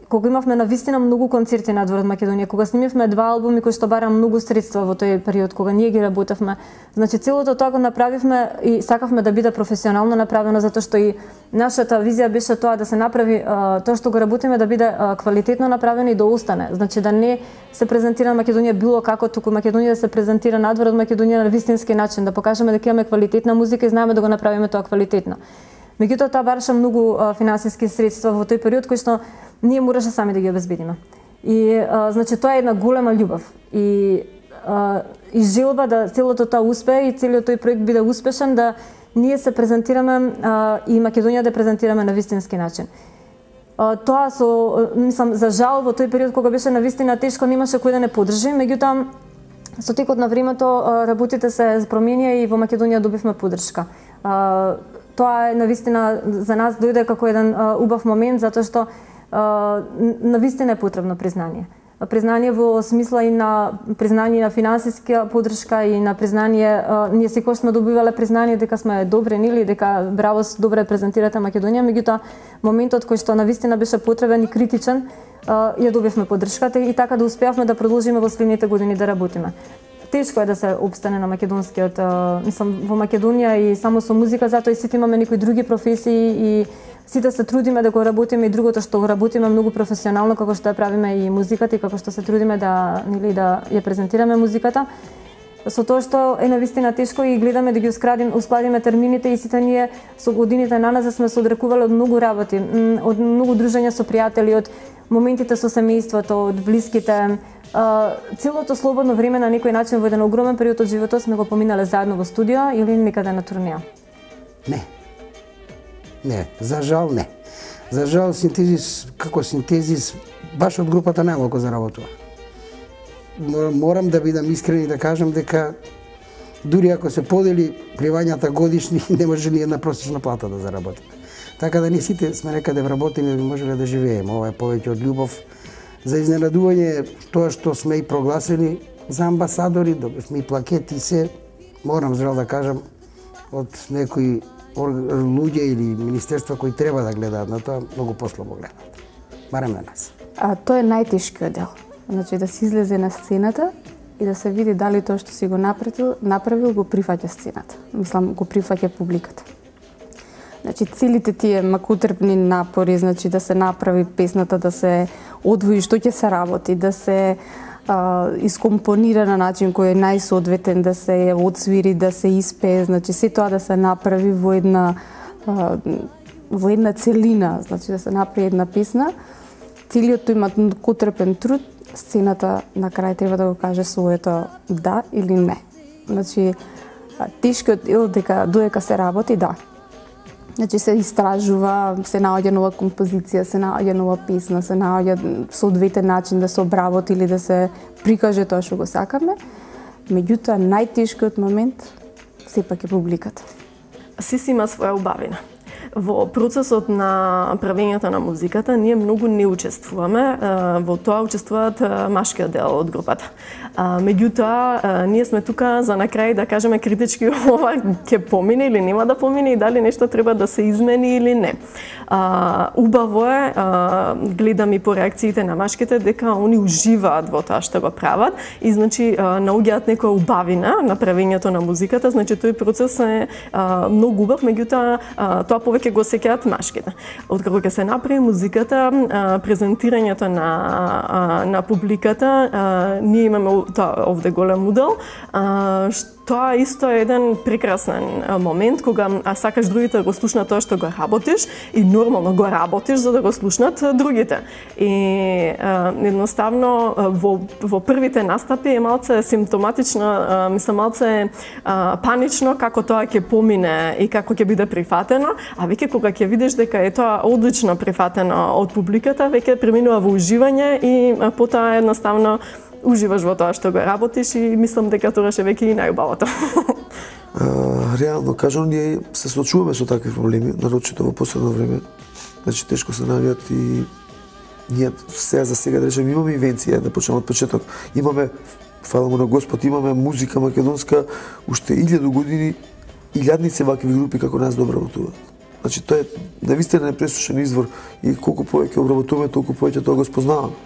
кога имавме навистина многу концерти надвор од Македонија, кога снимивме 2 албуми кои што бара многу средства во тој период кога ние ги работевме. Значи целото тоа го направивме и сакавме да биде професионално направено, затоа што и нашата визија беше тоа да се направи тоа што го работиме да биде квалитетно направено и да остане. Значи да не се презентира Македонија било како, туку Македонија да се презентира надвор од Македонија на вистински начин, да покажеме дека имаме квалитетна музика и знаеме да го направиме тоа квалитетно. Меѓутоа тоа бараше многу финансиски средства во тој период кои што ние мораше сами да ги обезбедиме. И значи тоа е една голема љубов и желба да целото тоа успее и целиот тој проект биде успешен, да ние се презентираме и Македонија да презентираме на вистински начин. Тоа мислам, за жал во тој период кога беше навистина тешко, немаше кој да не поддржи, меѓутоа со текот на времето работите се променија и во Македонија добивме поддршка. Тоа е навистина за нас дојде како еден убав момент, затоа што навистина е потребно признание. Признание во смисла и на признание на финансиска поддршка и на признание, ние секогаш сме добивале признание дека сме добри, нели, дека браво, добре презентирате Македонија, меѓутоа моментот кој што навистина беше потребен и критичен, ја добивме поддршката и така да успеавме да продолжиме во следните години да работиме. Тешко е да се обстане на македонскиот, мислам, во Македонија и само со музика, затоа и сите имаме некои други професии и сите се трудиме да го работиме и другото што го работиме многу професионално, како што ја правиме и музиката и како што се трудиме да ја презентираме музиката. Со тоа што е навистина тешко и гледаме да ги ускладиме термините и сите ние со годините наназад сме се одрекувале од многу работи, од многу дружења со пријатели, од моментите со семејството, од блиските. Целото слободно време на некој начин во еден огромен период од животот сме го поминале заедно во студио или некаде на турнеја? Не, за жал не. За жал синтезис, како синтезис, баш од групата најмалку заработува. Морам да бидам искрен и да кажам дека дури ако се подели пливањата годишни, не може ни една просечна плата да заработиме. Така да ние сите сме некаде вработени да можеле да живееме. Ова е повеќе од љубов. За изненадување тоа што сме и прогласени за амбасадори, добивме и плакети и се. морам жал да кажам, од некои луѓе или министерства кои треба да гледаат на тоа, многу послабо гледаат. Барем на нас. Тоа е најтешкиот дел. Значи да се излезе на сцената и да се види дали тоа што си го направил го прифаќа сцената. Мислам, го прифаќа публиката. Значи целите тие макутрпни напори, значи да се направи песната, да се одвои што ќе се работи, да се искомпонира на начин кој е најсоодветен, да се одсвири, да се испее, значи се тоа да се направи во една целина, значи да се направи една песна. Целиот тој макутрпен труд, сцената на крај треба да го каже своето да или не. Значи тешкиот дел додека се работи, да. Значи се истражува, се наоѓа нова композиција, се наоѓа нова песна, се наоѓа соодветен начин да се обработи или да се прикаже тоа што го сакаме. Меѓутоа, најтешкиот момент сепак е публиката. Се си има своја убавина. Во процесот на правењето на музиката ние многу не учествуваме, во тоа учествуваат машкиот дел од групата. Меѓутоа, ние сме тука за на крај да кажеме критички ова ќе помине или нема да помине и дали нешто треба да се измени или не. Убаво е, гледам и по реакциите на машките, дека они уживаат во тоа што го прават и значи наоѓаат некоја убавина на правењето на музиката, значи тој процес е многу убав, меѓутоа тоа повеќе го сеќаат машките. Откако ќе се направи музиката, презентирањето на публиката, ние имаме тоа овде голем удел, тоа исто е еден прекрасен момент кога сакаш другите да го слушнат тоа што го работиш и нормално го работиш за да го слушнат другите. И едноставно во првите настапи е малце симптоматично, мислам малце панично како тоа ќе помине и како ќе биде прифатено, а веќе кога ќе видиш дека е тоа одлично прифатено од публиката, веќе преминува во уживање и потоа едноставно уживаш во тоа што го работиш и мислам дека тоа ше веќе и најубавото. Реално кажам, ние се соочуваме со такви проблеми, нарочито во последно време. Значи тешко се наоѓаат и ние за сега да речем имаме инвенција, да почнеме од почеток. Имаме, фала му на Господ, имаме музика македонска уште 1000 години, илјадници вакви групи како нас да обработуваат. Значи тоа е навистина непресушен извор и колку повеќе обработуваме, толку повеќе тоа го спознаваме.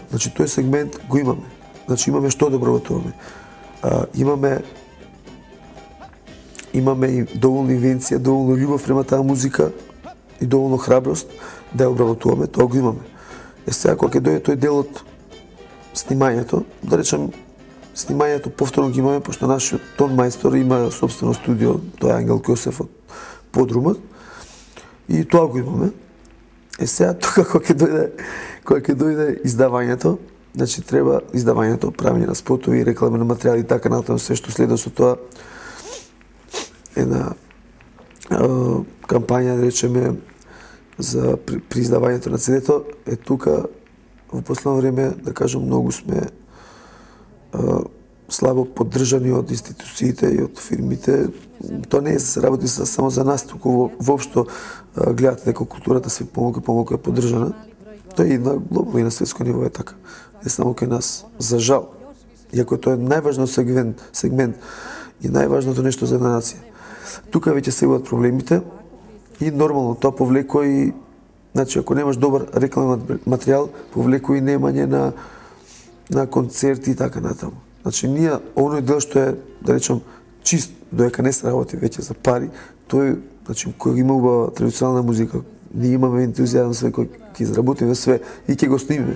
Значи тој сегмент го имаме. Значи имаме што да обработуваме. Имаме и доволно инвенција, доволно љубов према таа музика и доволно храброст да ја обработуваме, тоа го имаме. Сега кога ќе дојде тој дел од снимањето, да речем снимањето повторно ги имаме, пошто нашиот тон мајстор има собствено студио, тоа е Ангел Кјосеф од Подрумот, и тоа го имаме. Сега тука кога ќе дојде издавањето, значи треба издавањето, правење на спотови, рекламни материјали и така натаму, се што следува со тоа една кампања, да речеме, за при издавањето на CD-то е тука во последно време, да кажам, многу сме слабо поддржани од институциите и од фирмите. Тоа не е се работи само за нас, туку воопшто гледате дека културата се помалку е поддржана. Тоа и на глобално и на светско ниво е така. Не само кај нас, за жал. Иако тоа е најважниот сегмент и најважното нешто за една нација. Тука веќе се имаат проблемите и нормално тоа повлекува и, значи, ако немаш добар рекламен материјал, повлекува и немање на концерти и така натаму. Значи, ние, оној дел што е, да речем, чист, доека не се работи веќе за пари, тој, значи, кој има убава традиционална музика, ние имаме ентузијазм све кој ќе изработиме све и ќе го снимиме.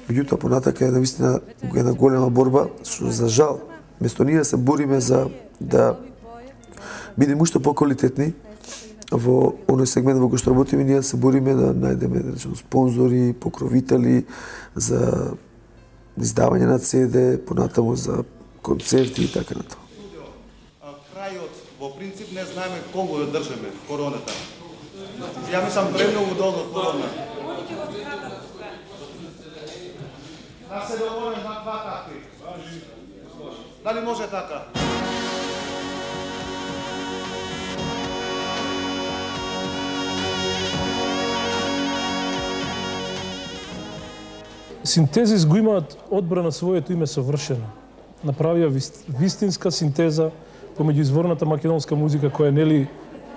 Меѓутоа, понатака е навистина една голема борба, што за жал, место ние да се бориме за да бидеме уште поквалитетни во оној сегмент во кој што работиме, ние да се бориме да најдеме, да речем, спонзори, покровители за издавање на CD, понатаму за концерти и така натаму. Крајот, во принцип, не знаеме колку да држиме короната. Ја мислам премногу долго корона. Да се договорим на два такви. Дали може така? Синтезис го имаат одбрана своето име совршено. направија вистинска синтеза помеѓу изворната македонска музика која нели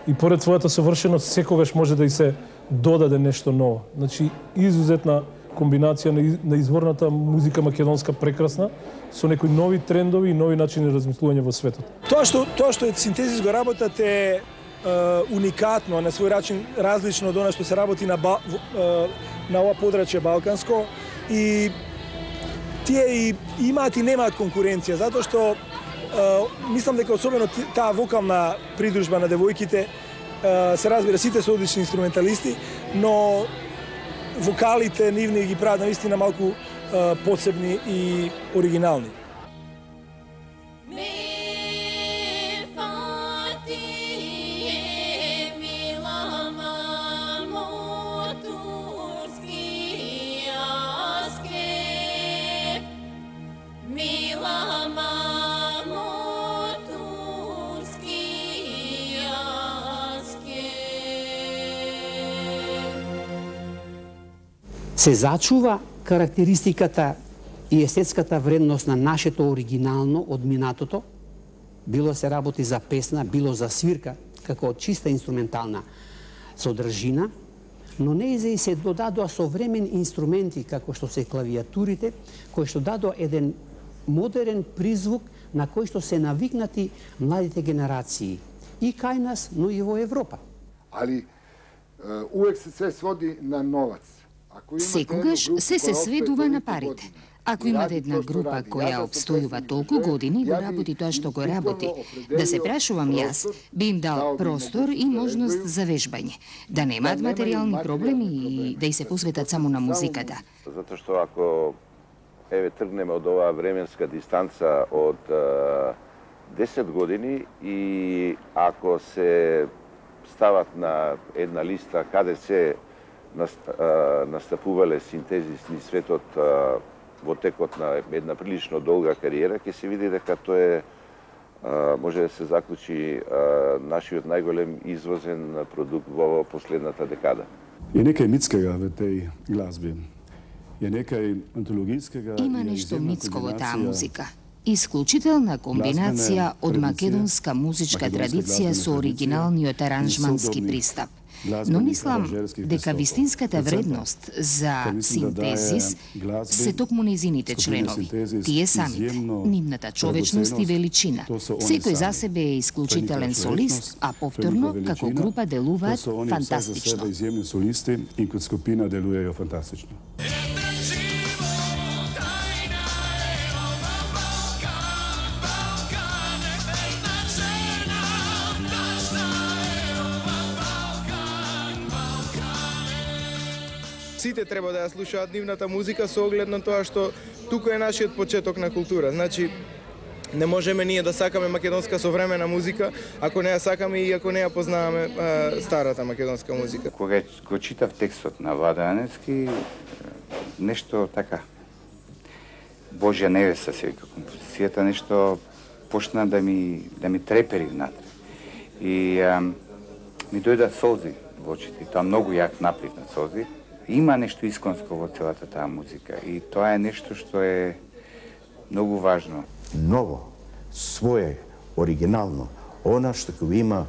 и поред својата совршеност секогаш може да и се додаде нешто ново. Значи изузетна комбинација на изворната музика македонска прекрасна со некои нови трендови и нови начини на размислување во светот. Тоа што е синтезис го работат е уникатно, на свој начин различно од она што се работи на ова подрачје балканско, и тие и имаат и немаат конкуренција, затоа што мислам дека особено таа вокална придружба на девојките, се разбира, сите се одлични инструменталисти, но вокалите нивни ги прават наистина малку посебни и оригинални. Се зачува карактеристиката и естетската вредност на нашето оригинално од минатото, било се работи за песна, било за свирка, како чиста инструментална содржина, но неизе и се додадоа современи инструменти, како што се клавиатурите, кои што дадоа еден модерен призвук на кој што се навикнати младите генерации и кај нас, но и во Европа. Али увек се своди на новац. Секогаш се сведува на парите. Ако имате една група која обстојува толку години, го работи тоа што го работи, да се прашувам јас, би им дал простор и можност за вежбање, да немаат материјални проблеми и да и се посветат само на музиката. Затоа што ако тргнеме од оваа временска дистанца од 10 години и ако се стават на една листа каде се настапувале синтезисни светот во текот на една прилично долга кариера, ќе се види дека тоа е, може да се заклучи, нашиот најголем извозен продукт во последната декада. Е некај митскега во теј глазби. Е некај антологискега. Има нешто митско во таа музика. Исклучителна комбинација од македонска музичка традиција со оригиналниот аранжмански пристап. Но мислам дека вистинската вредност за синтезис се токму незините членови, тие самите, нивната човечност и величина. Секој за себе е исклучителен солист, а повторно како група делуваат фантастично. Изјемни солисти и како скупина делуваат фантастично. Сите треба да ја слушаат нивната музика со оглед на тоа што тука е нашиот почеток на култура. Значи, не можеме ние да сакаме македонска современа музика, ако не ја сакаме и ако не ја познаваме старата македонска музика. Кога го читав текстот на Владо Јаневски, нешто така, Божја невеста се вика композицијата, нешто почна да ми трепери внатре. И ми дојдат солзи во очите, тоа многу јак наплив на солзи. Има нешто исконско во целата таа музика и тоа е нешто што е многу важно. Ново, свое, оригинално, она што го има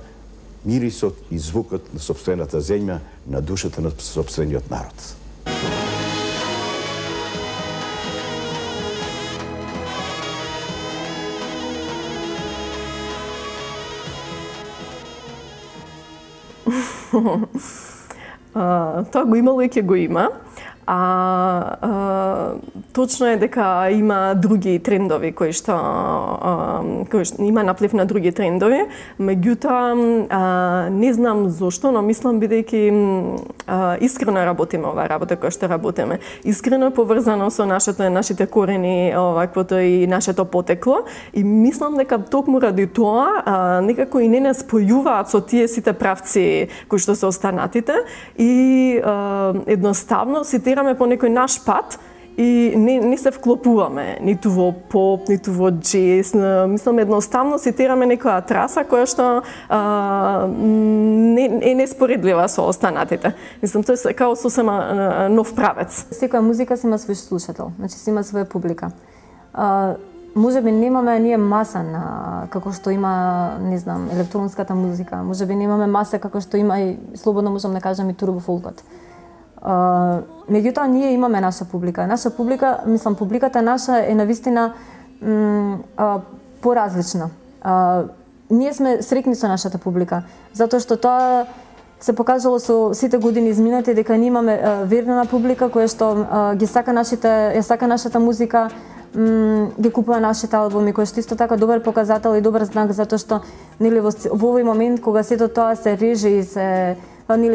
мирисот и звукот на сопствената земја, на душата на сопствениот народ. Тоа го имало и ќе го има. Точно е дека има други трендови кои што има наплив на други трендови, меѓутоа не знам зошто, но мислам бидејќи искрено работиме оваа работа која што работиме. Искрено е поврзано со нашите корени, оваквото и нашето потекло и мислам дека токму ради тоа некако и не спојуваат со тие сите правци кои што се останатите и едноставно цитираме по некој наш пат и не се вклопуваме ниту во поп, ниту во джез. Мислам, едноставно цитираме некоја траса која што е неспоредлива со останатите. Мислам, тоа е као сосема нов правец. Секоја музика си има свој слушател, значи си има своја публика. можеби немаме ние маса на како што има, не знам, електронската музика. Можеби немаме маса како што има и слободно можам да кажам и турбо фолкот. Меѓутоа ние имаме наша публика. Наша публика, мислам, публиката наша е навистина поразлична. Ние сме среќни со нашата публика, затоа што тоа се покажало со сите години изминати дека ние имаме верна публика која што ги сака нашата музика, ги купува нашите албуми, кој што исто така добар показател и добар знак, затоа што нели во овој момент кога сето тоа се реже и се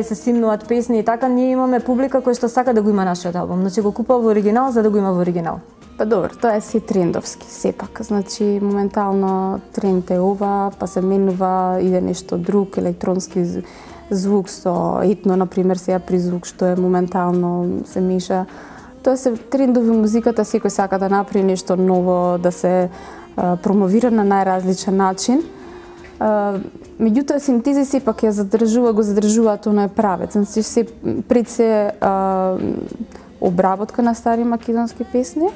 се симнуваат песни и така, ние имаме публика која што сака да го има нашиот албум, значи го купува во оригинал за да го има во оригинал. Па добро, тоа е си трендовски, сепак. Значи, моментално тренд е ова, па се менува, иде нешто друг, електронски звук со етно, например, сега призвук, што е моментално се меша. Тоа се трендови музиката, секој сака да направи нешто ново, да се промовира на најразличен начин. Меѓутоа, синтези сепак го задржуваат оној правец. Значи, пред се обработка на стари македонски песни,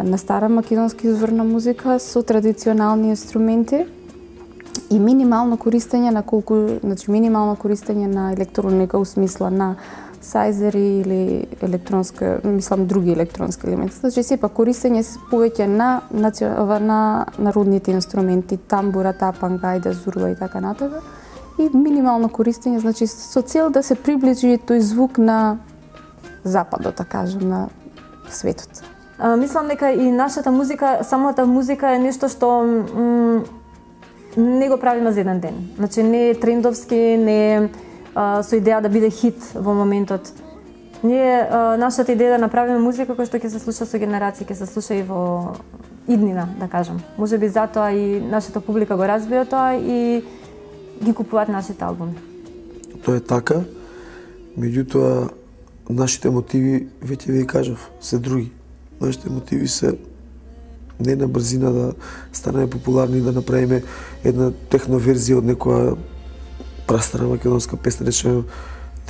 на стара македонски изворна музика со традиционални инструменти и минимално користење на електроника у смисла на сајзери или електронска, мислам други електронски елементи. Значи сепак користење повеќе на народните инструменти, тамбура, тапанга, ајда, зурба и така натаму. И минимално користење, значи со цел да се приближи тој звук на западот, да кажем, на светот. Мислам дека и нашата музика, самата музика е нешто што не го правиме за еден ден. Значи не е трендовски, не е со идеја да биде хит во моментот. Ние нашата идеја да направиме музика која што ќе се слуша со генерации, ќе се слуша и во иднина, да кажам. Можеби затоа и нашата публика го разбира тоа и ги купуваат нашите албуми. Тоа е така, меѓутоа нашите мотиви, веќе ви кажав, се други. Нашите мотиви се не на брзина да станеме популарни, да направиме една техноверзија од некоја прастара македонска песна, речеме,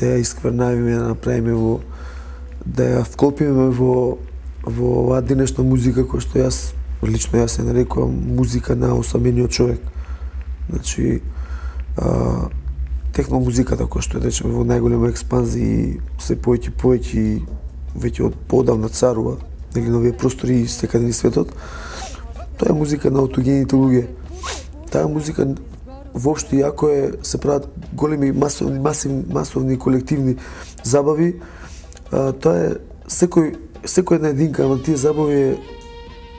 да ја исквернавиме, да направиме да ја вклопиме во оваа денешна музика која што лично јас се нарекувам музика на осамениот човек. Значи, техномузиката која што речеме во најголема експанзија се повеќе веќе од поодамна царува, нели на овие простори и секаде низ светот. Тоа е музика на аутогените луѓе. Таа музика воопшто иако се прават големи масовни колективни забави, тоа е секој една единка на тие забави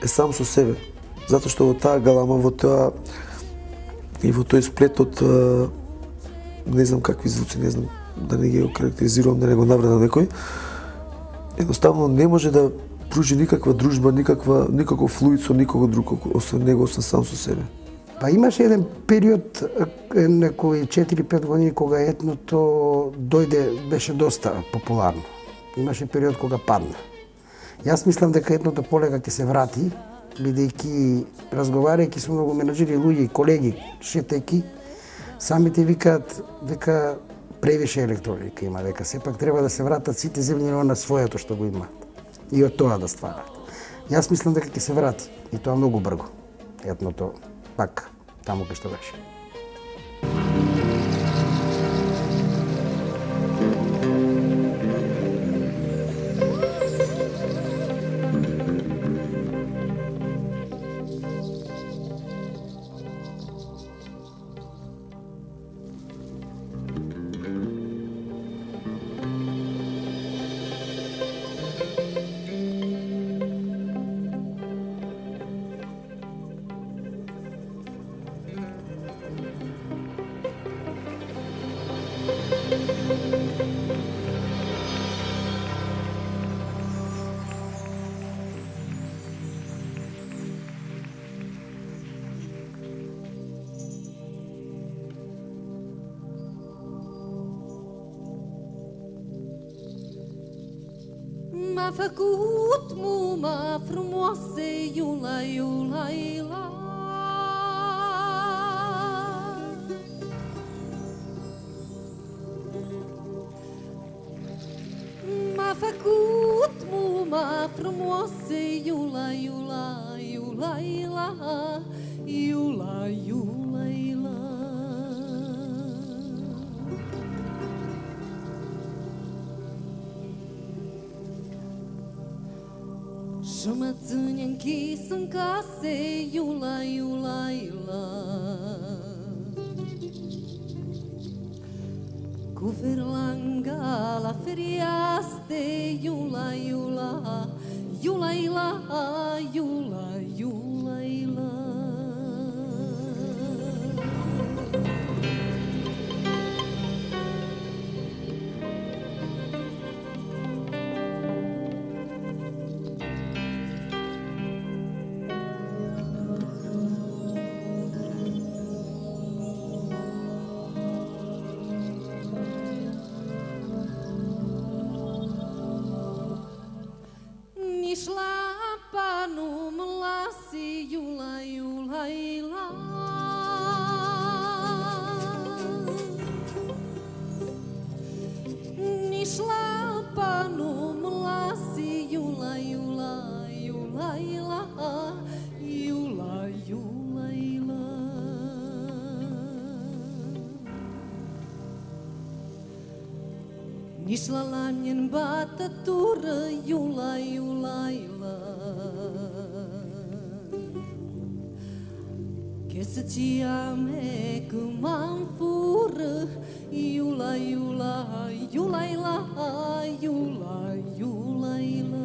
е сам со себе. Затоа што во таа галама, во тоа и во тој сплет од не знам какви звуци, не знам да не ги окарактеризирувам, да не го навредам некој, едноставно не може да пружи никаква дружба, никаков флуид со никого друг, освен него, освен сам со себе. Па имаше еден период, некои 4-5 години, кога етното беше доста популарно. Имаше период кога падна. Јас мислам дека етното полека ќе се врати, бидејќи разговарајќи со многу менаџери, луѓе и колеги, шетајќи, самите викаат дека превише електроника има, дека сепак треба да се вратат сите земји на своето што го имаат и од тоа да стварат. Јас мислам дека ќе се врати и тоа многу брзо. Етното пак таму кај што беше. Ma făcut muma frumoase, iula, iula, iula. M-a făcut muma frumoase, iula, iula, iula. юла, юла, юла, юла, юла. Шумацунен киsun kase, юла, юла, юла. Kuverlanga la feriaste, юла, юла, юла, юла, юла, юла, юла. Nishla lanjen bata tura, юла, юла, юла. Che se ci ame kumam fura, юла, юла, юла, юла, юла, юла, юла.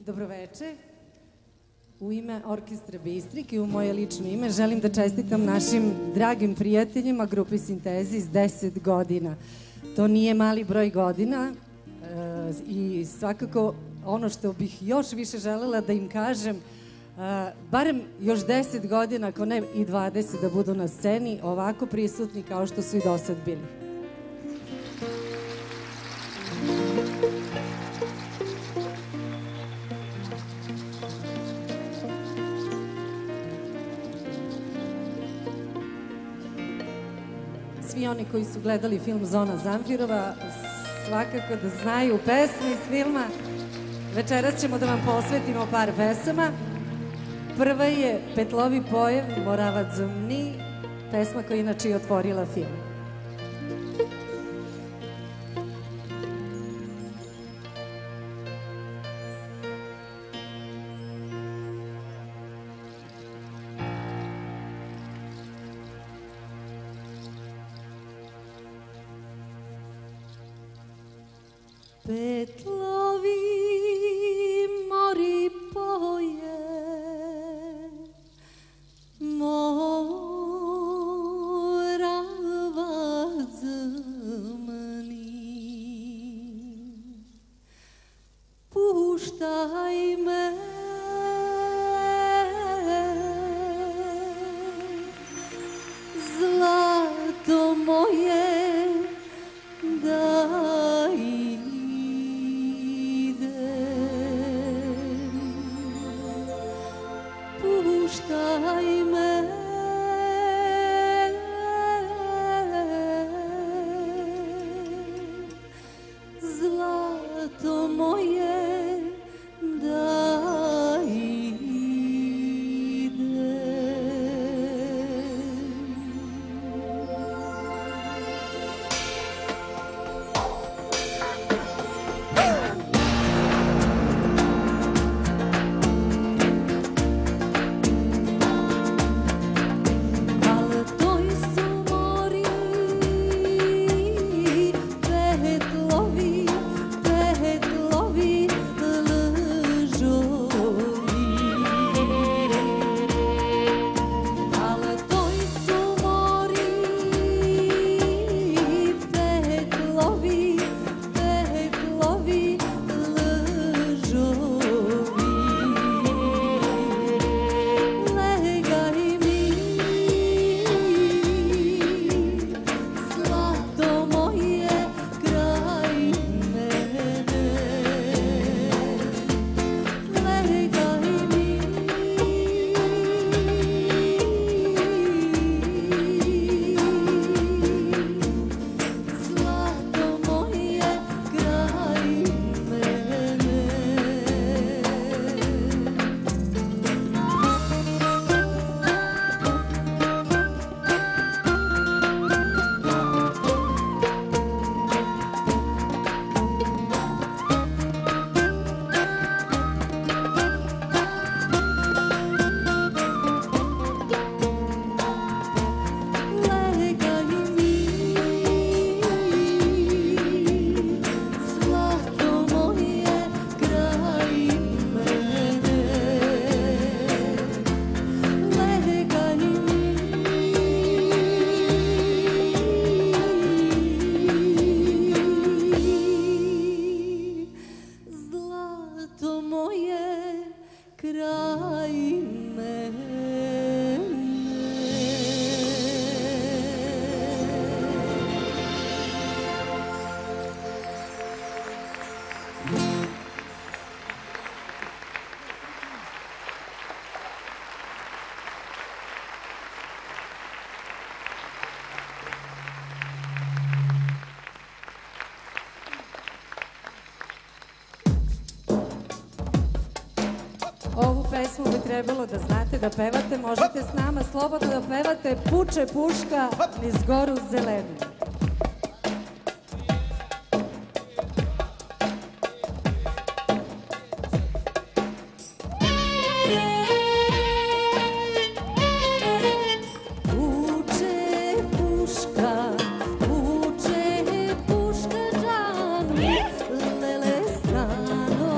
Добровече. U ime Orkestra Bistrik i u moje lično ime želim da čestitam našim dragim prijateljima grupi Sintezi s 10 godina. To nije mali broj godina i svakako ono što bih još više želela da im kažem, barem još 10 godina, ako ne i 20, da budu na sceni ovako prisutni kao što su i do sad bili. Svi oni koji su gledali film Zona Zamfirova svakako da znaju pesme iz filma. Večeras ćemo da vam posvetimo par pesama. Prva je Petlovi pojev, Moravac zumni, pesma koja inače je otvorila film. Petlovi mori poje, Moravac zmni, puštaj me, zlato moje, da puštaj me, zlato moje, da idem. Ovu pesmu bi trebalo da znate da pevate, možete s nama slobodno da pevate Puče puška niz goru zelenu. Puče puška džanu, lele strano,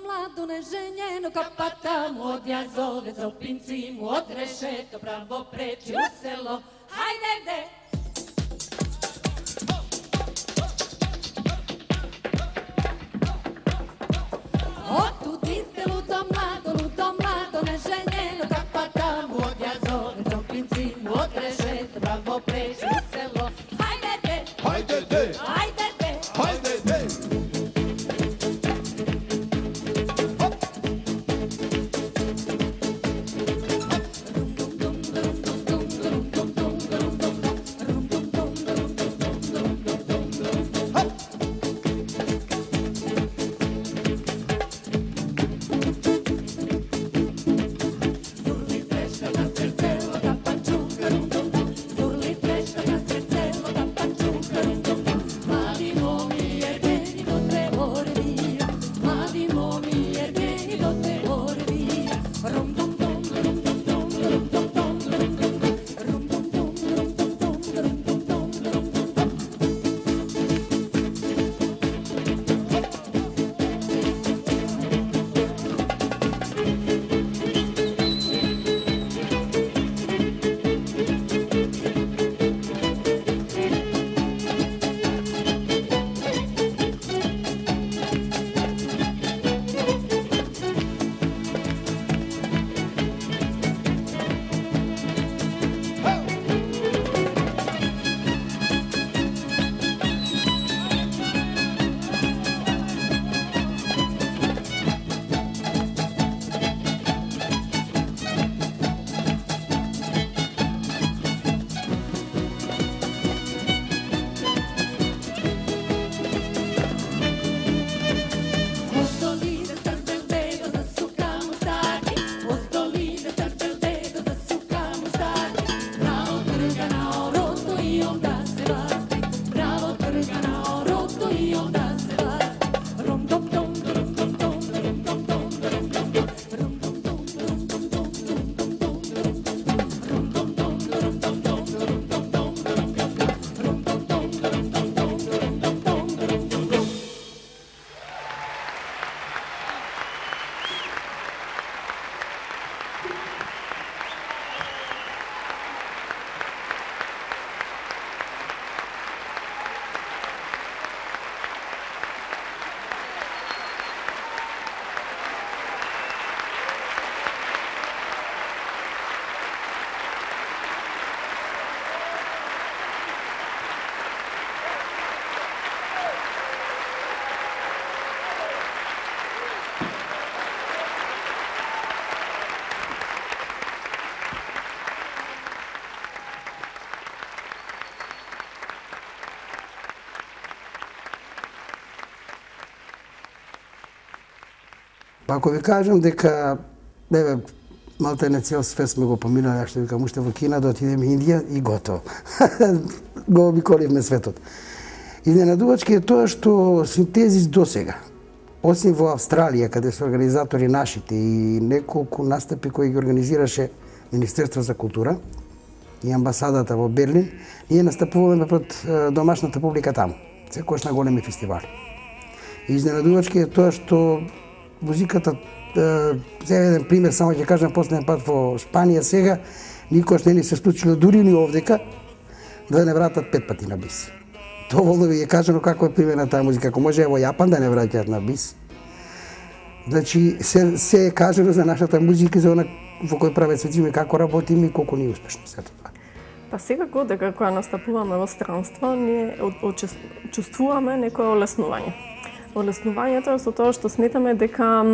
mlado neženjeno, kapata mu od jazove, za opinci mu od rešeto, pravo preči u selo, hajde de! Otudite ludo mlado neženjeno, kapata mu od jazove, za opinci mu od rešeto, pravo preči u selo, hajde de! Hajde de! Hajde de! Hajde de! Ако ви кажам дека малта не цел свет сме го поминали, што викам уште во Кина, да отидеме Индија и готово. Го обиколивме светот. Изненадувачки е тоа што Синтезис досега, осим во Австралија, каде се организатори нашите и неколку настапи кои ги организираше Министерство за култура и амбасадата во Берлин, ние настапуваме пред домашната публика таму, секојаш на големи фестивали. И изненадувачки е тоа што музиката, за еден пример, само ќе кажам, последен пат во Шпанија сега, никош не ни се случило дури ни овдека, да не вратат 5 пати на бис. Доволно ви е кажано како е пример на таа музика, ако може во Јапан да не враќаат на бис. Значи, се е кажано за нашата музика, за она во кој прават светиме, како работиме и колку ни е успешно сето тоа. Па секако дека кога настапуваме во странство, ние чувствуваме некое олеснување. Олеснувањето е со тоа што сметаме дека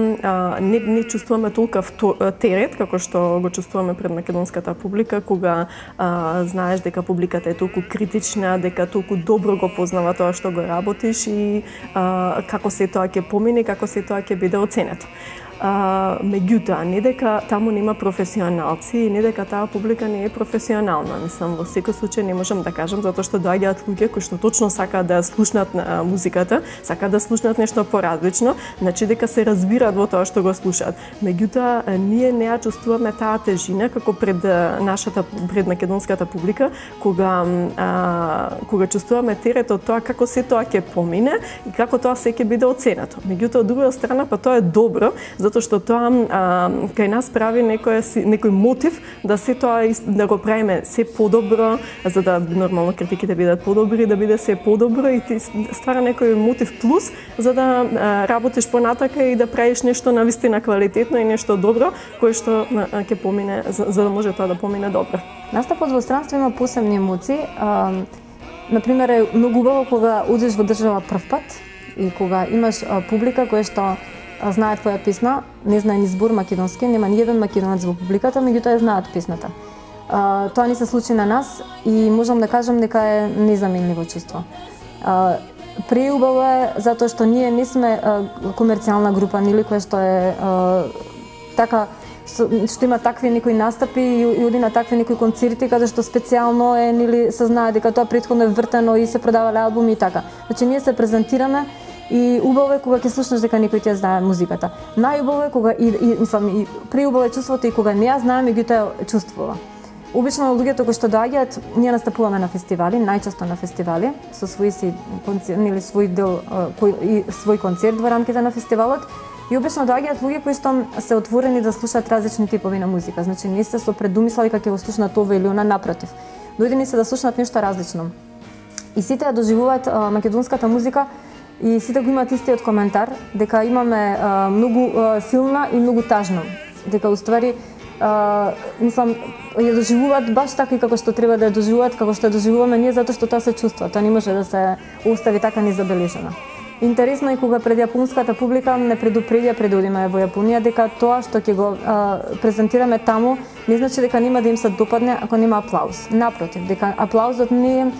не чувствуваме толков терет како што го чувствуваме пред македонската публика, кога знаеш дека публиката е толку критична, дека толку добро го познава тоа што го работиш и како се тоа ќе помине, како се тоа ќе биде оценето. Меѓутоа, не дека таму нема професионалци и не дека таа публика не е професионална. Мислам, во секој случај не можам да кажам, затоа што доаѓаат луѓе кои што точно сакаат да слушнат музиката, сакаат да слушнат нешто поразлично, значи дека се разбираат во тоа што го слушаат. Меѓутоа, ние не ја чувствуваме таа тежина како пред македонската публика, кога чувствуваме терето тоа како се тоа ќе помине и како тоа се ќе биде оценето. Меѓутоа, од друга страна, па тоа е добро, затоа што тоа кај нас прави некој мотив да се тоа да го правиме се подобро, за да нормално критиките бидат подобри, да биде се подобро и ти ствара некој мотив плюс за да работиш понатака и да правиш нешто навистина квалитетно и нешто добро кое што ќе помине за да може тоа да помине добро. Настапот во странство има посебни емоции. Например, е многу убаво кога одиш во држава прв пат и кога имаш публика која што знае твоја песна, не знае ни збор македонски, нема ни еден македонец во публиката, меѓутоа ја знаат песната. Тоа не се случи на нас и можам да кажам дека е незаменливо чувство. Преубаво е затоа што ние не сме комерцијална група, нели, која што е така што има такви некои настапи и оди на такви некои концерти каде што специјално е, нели, се знае дека тоа претходно е вртено и се продавале албуми и така. Значи ние се презентираме и убаво е кога ќе слушнеш дека некој ти ја знае музиката. Најубаво е кога и преубаво е чувството и кога не ја знае, меѓутоа чувствува. Обично луѓето кои што доаѓаат, ние настапуваме на фестивали, најчесто на фестивали, со свој си концерт, нели свој дел и свој концерт во рамките на фестивалот. И обично доаѓаат луѓе кои што се отворени да слушаат различни типови на музика. Значи не се со предумисла дека ќе го слушнат ова или она, напротив. Дојдени се да слушнат нешто различно. И сите ја доживуваат македонската музика и сите го имаат истиот коментар дека имаме многу силна и многу тажна. Дека уствари мислам ја доживуваат баш така и како што треба да ја доживуваат, како што ја доживуваме ние, затоа што тоа се чувства, тоа не може да се остави така незабележано. Интересно е кога пред јапонската публика не предупредија пред да одиме во Јапонија дека тоа што ќе го презентираме таму не значи дека нема да им се допадне ако нема аплауз. Напротив, дека аплаузот не е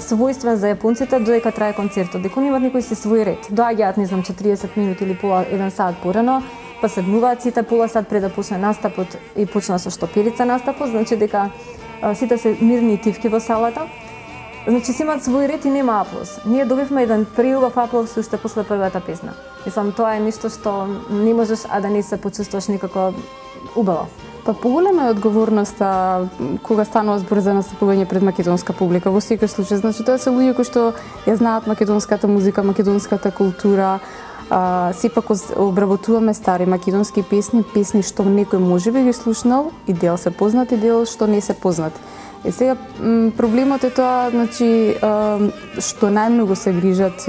својствен за јапонците додека трае концертот, дека они имаат некој си свој ред. Доаѓаат, не знам, 40 минути или пола 1 сат порано, па седнуваат сите пола сат пред да почне настапот и почна со штопелица настапот, значи дека сите се мирни и тивки во салата. Значи си имаат свој ред и нема аплауз. Ние добивме еден преубав аплауз уште после првата песна. Мислам, тоа е нешто што не можеш а да не се почувствуваш никако убаво. Па поголема е одговорноста кога станува збор за настапување пред македонска публика. Во секој случај, значи тоа се луѓе кои што ја знаат македонската музика, македонската култура. Сепак обработуваме стари македонски песни што некој можеби ги слушнал и дел се познати, дел што не се познати. И сега проблемот е тоа, значи што најмногу се грижат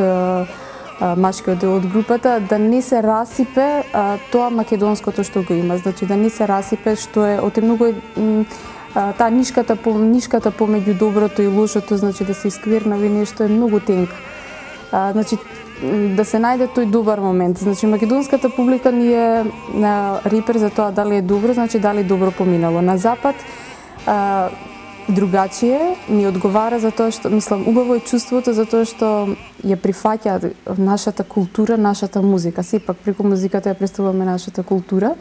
машкиот дел од групата, да не се расипе тоа македонското што го има, значи да не се расипе што е многу таа нишката помеѓу доброто и лошото, значи да се исквернави нешто е многу тенка. Значи да се најде тој добар момент. Значи македонската публика ни е репер за тоа дали е добро, значи дали добро поминало. На запад другачие ни одговара за тоа што, мислам, убаво е чувството за тоа што ја прифаќа нашата култура, нашата музика. Сепак преку музиката ја представуваме нашата култура.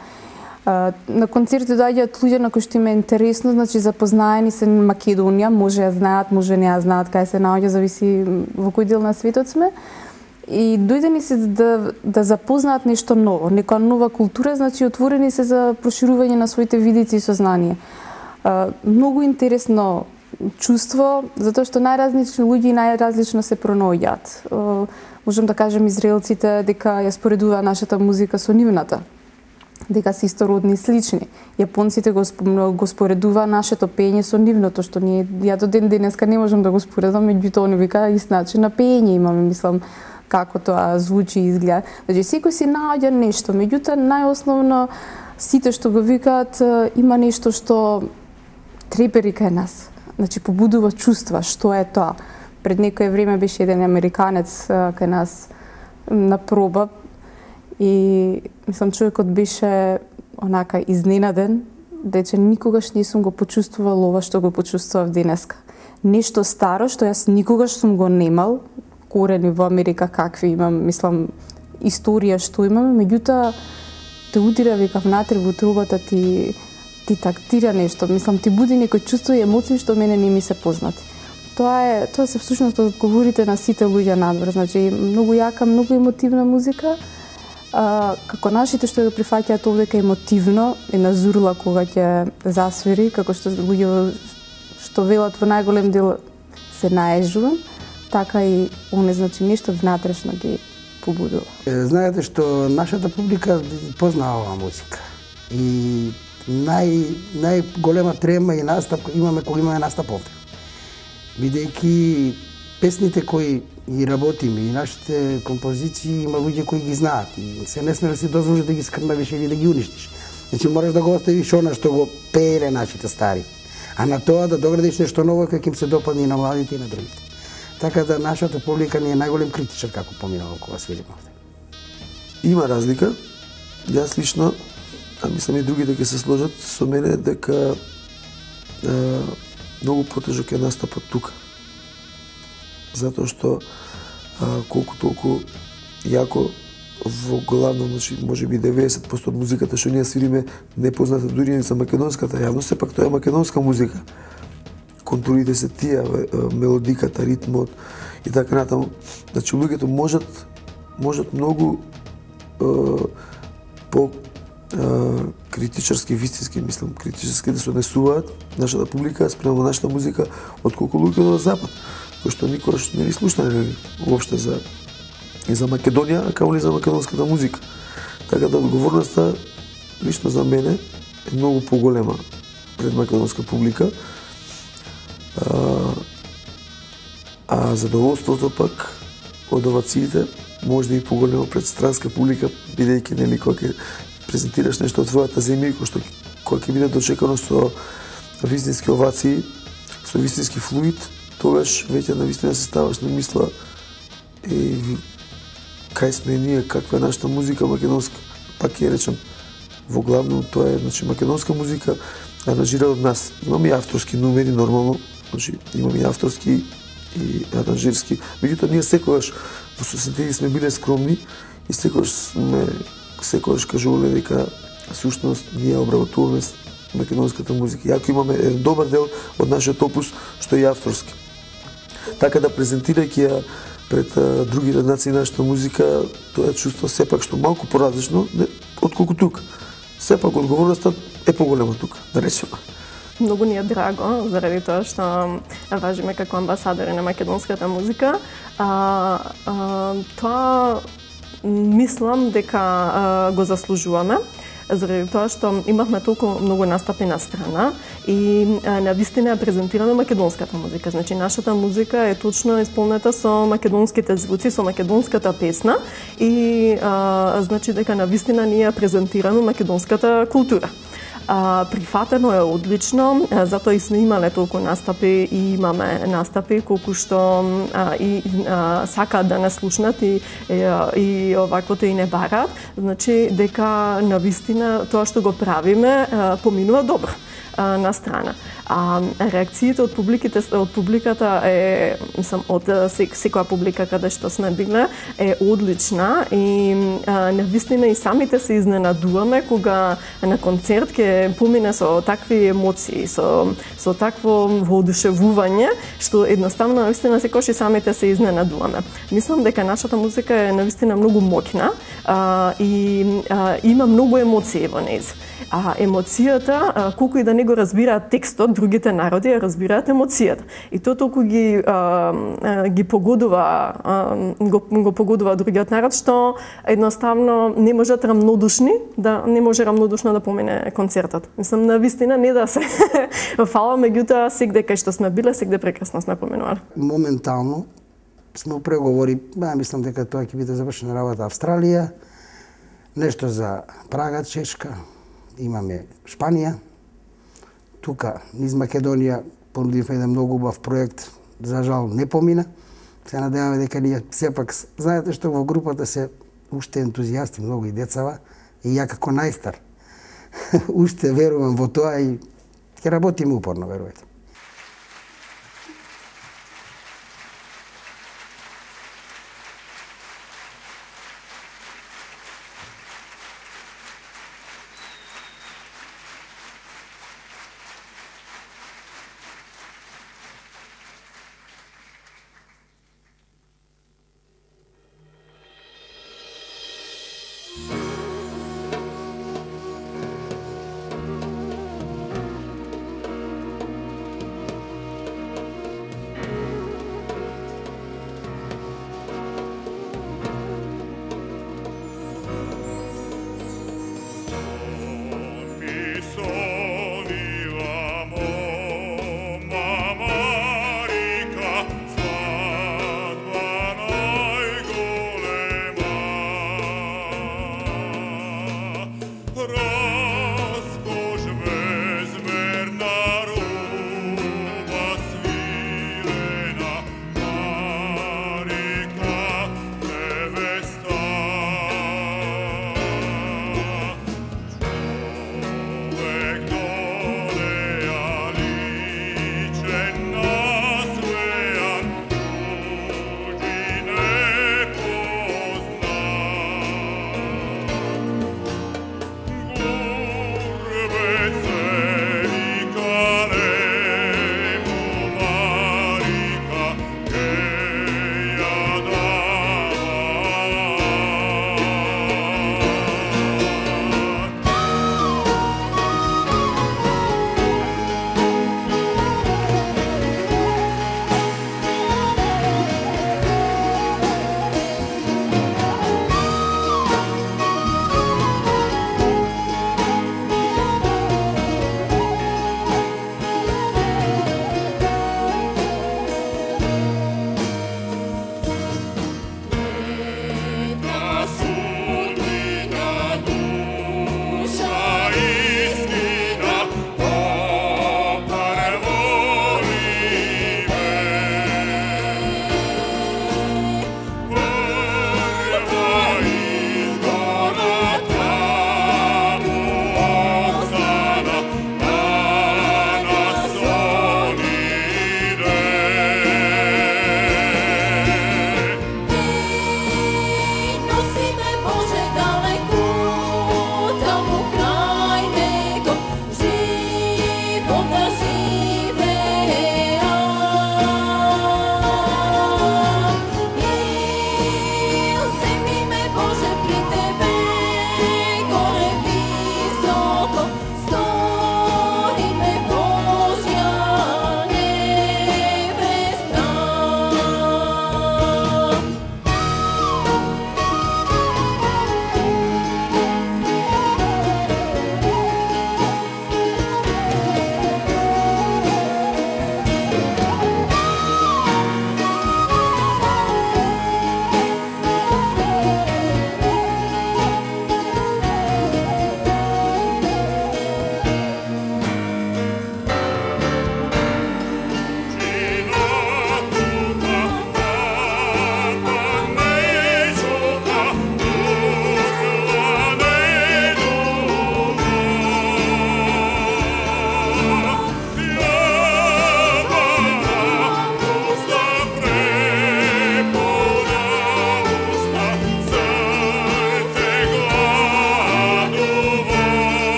На концерти доаѓаат луѓе на кои што им е интересно, значи запознаени се Македонија, може ја знаат, може не ја знаат кај се наоѓа, зависи во кој дел на светот сме. И дојдени се да запознаат нешто ново, некоја нова култура, значи отворени се за проширување на своите видици и сознание. Многу интересно чувство, затоа што најразлични луѓе и најразлично се пронаоѓаат. Можам да кажем израелците дека ја споредува нашата музика со нивната, дека се истородни и слични. Јапонците го споредува нашето пење со нивното, што ние ја до ден денеска не можам да го споредам, меѓутоа они вика ист начин на пење имаме, мислам, како тоа звучи и изгледа. Значи секој си наоѓа нешто, меѓутоа најосновно сите што го викаат има нешто што трепери кај нас. Значи побудува чувства, што е тоа. Пред некое време беше еден американец кај нас на проба и мислам човекот беше онака изненаден, дека никогаш не сум го почувствувал ова што го почувствував денеска. Нешто старо што јас никогаш сум го немал, корени во Америка какви имам, мислам, историја што имам, меѓутоа те удира вика внатре во трубата, ти тактира нешто, мислам ти буди некој чувство и емоции што мене не ми се познати. Тоа се всушност одговорите на сите луѓе надвор, значи многу јака, многу емотивна музика. Како нашите што го прифаќаат овдека емотивно и назурла кога ќе засвири, како што луѓе што велат во најголем дел се наежувам, така и оне значи нешто внатрешно ги побудува. Знаете што нашата публика познава оваа музика. И најголема трема и настап имаме кога имаме настап овде. Бидејќи песните кои ги работиме и нашите композиции има луѓе кои ги знаат и се не сме да си дозволиш да ги скрнавиш или да ги уништиш. Значи мораш да го оставиш она што го пееле нашите стари. А на тоа да доградиш нешто ново како им се допадне и на младите и на другите. Така да нашата публика не е најголем критичар како поминало кога свириме овде. Има разлика. Јас лично, а мислам и другите ќе се сложат со мене дека многу потежок е настапот тука. Затоа што колку толку јако во главно, значи можеби 90% од музиката што ние свириме непозната дури и за македонската јавност, сепак тоа е македонска музика. Контурите се тие, мелодиката, ритмот и така натаму. Значи луѓето можат многу по критичарски, вистински, мислам, критичарски да се однесуваат нашата публика спрема нашата музика отколку луѓето од запад, кои што никогаш не ли слушнале уопште за Македонија, а камо ли за македонската музика. Така да одговорноста лично за мене е многу поголема пред македонска публика. А задоволството пак од овациите може да и поголемо пред странска публика, бидејќи нели кога ќе презентираш нешто од твојата земја, кога ќе биде дочекано со вистински овации, со вистински флуид, тогаш веќе навистина се ставаш на мисла кај сме ние, каква е нашата музика македонска. Пак ќе речем, во главно тоа е значи македонска музика аранжира од нас. Имаме и авторски номери нормално, значи имаме и авторски и аранжирски. Меѓутоа ние секогаш во сосинтези сме биле скромни и секогаш кажувале дека всушност ние обработуваме македонската музика. Јако имаме еден добар дел од нашиот опус што е авторски. Така да презентирајќи ја пред други нации нашата музика, тоа е чувство сепак што малку поразлично отколку тука. Сепак одговорноста е поголема тука, да речеме. Многу ни е драго, заради тоа што важиме како амбасадори на македонската музика. Тоа мислам дека го заслужуваме, заради тоа што имавме толку многу настапи на страна и навистина презентираме македонската музика. Значи нашата музика е точно исполнета со македонските звуци, со македонската песна и значи дека навистина ние презентираме македонската култура. Прифатено е одлично, затоа и сме имале толку настапи и имаме настапи колку што сакаат да не слушнат и оваквото и не бараат. Значи дека навистина тоа што го правиме поминува добро на страна. Реакциите од публиката е, мислам, од секоја публика каде што сме биле е одлична и навистина и самите се изненадуваме кога на концерт ќе помине со такви емоции, со такво воодушевување, што едноставно навистина секогаш и самите се изненадуваме. Мислам дека нашата музика е навистина многу моќна и има многу емоции во нејз. Емоцијата, колку и да не го разбираат текстот, другите народи ја разбираат емоцијата. И тоа толку ги погодува, го погодува другиот народ, што едноставно не можат рамнодушно да помине концертот. Мислам, навистина не да се фала, меѓутоа сегде кај што сме биле, сегде прекрасно сме поминували. Моментално сме у преговори, мислам дека тоа ќе биде завршена работа Австралија, нешто за Прага, Чешка, имаме Шпанија, тука низ Македонија понудивме еден многу убав проект, за жал не помина. Се надеваме дека ние сепак, знаете што во групата се уште ентузијасти, многу и децава, и ја како најстар уште верувам во тоа и ќе работиме упорно, верувајте.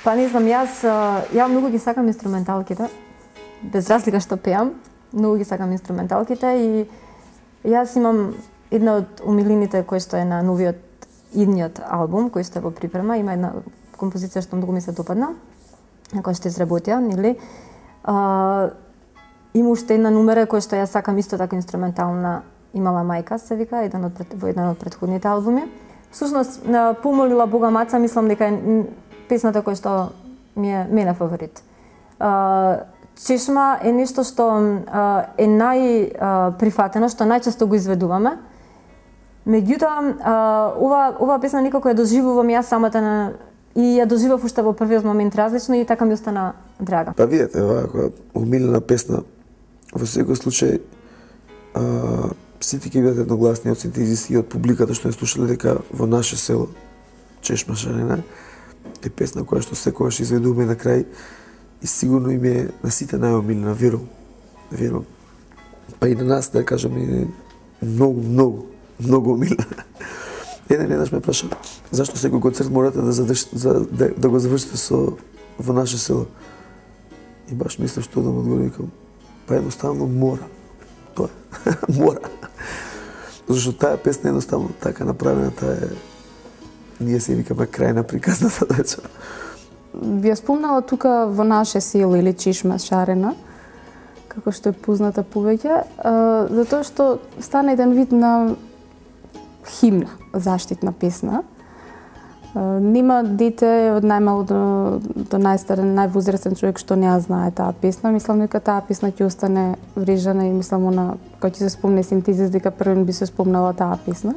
Па не знам, ја многу ги сакам инструменталките. Без разлика што пеам, многу ги сакам инструменталките и јас имам една од умилените кој што е на новиот идниот албум кој што е во припрема, има една композиција што многу ми се допадна, на која што изработија, нели? Има уште една numera која што ја сакам исто така инструментална, имала мајка се вика, во еден од претходните албуми. Всушност, помолила Бога Маца, мислам дека е песната која што ми е мене фаворит. Чешма е нешто што е најприфатено, што најчесто го изведуваме. Меѓутоа, ова песна никако ја доживувам јас самата и ја доживав уште во првиот момент различно и така ми остана драга. Па видете, оваа умилена песна, во секој случај, сите ќе бидат едногласни од синтезиси и од публиката што ја слушале дека во наше село, Чешма Шарена, е песна која што секогаш изведуваме на крај и сигурно им е на сите најомилена, верувам. Па и на нас, да кажам, е многу омилена. Еднаш ме праша зашто секој концерт морате да го завршите со во наше село. И баш мислев што да му одговорам, па едноставно мора. Тоа е, мора. Зашто таа песна едноставно така направена, таа е, ние се викаме крај на приказната деча. Ви ја спомнала тука во наше село или Чешма Шарена, како што е позната повеќе, затоа што стана еден вид на химна, заштитна песна. Нема дете од најмало до најстарен, највозрастен човек што не ја знае таа песна. Мислам дека таа песна ќе остане врежана и мислам кога ќе се спомне синтезис дека првен би се спомнала таа песна.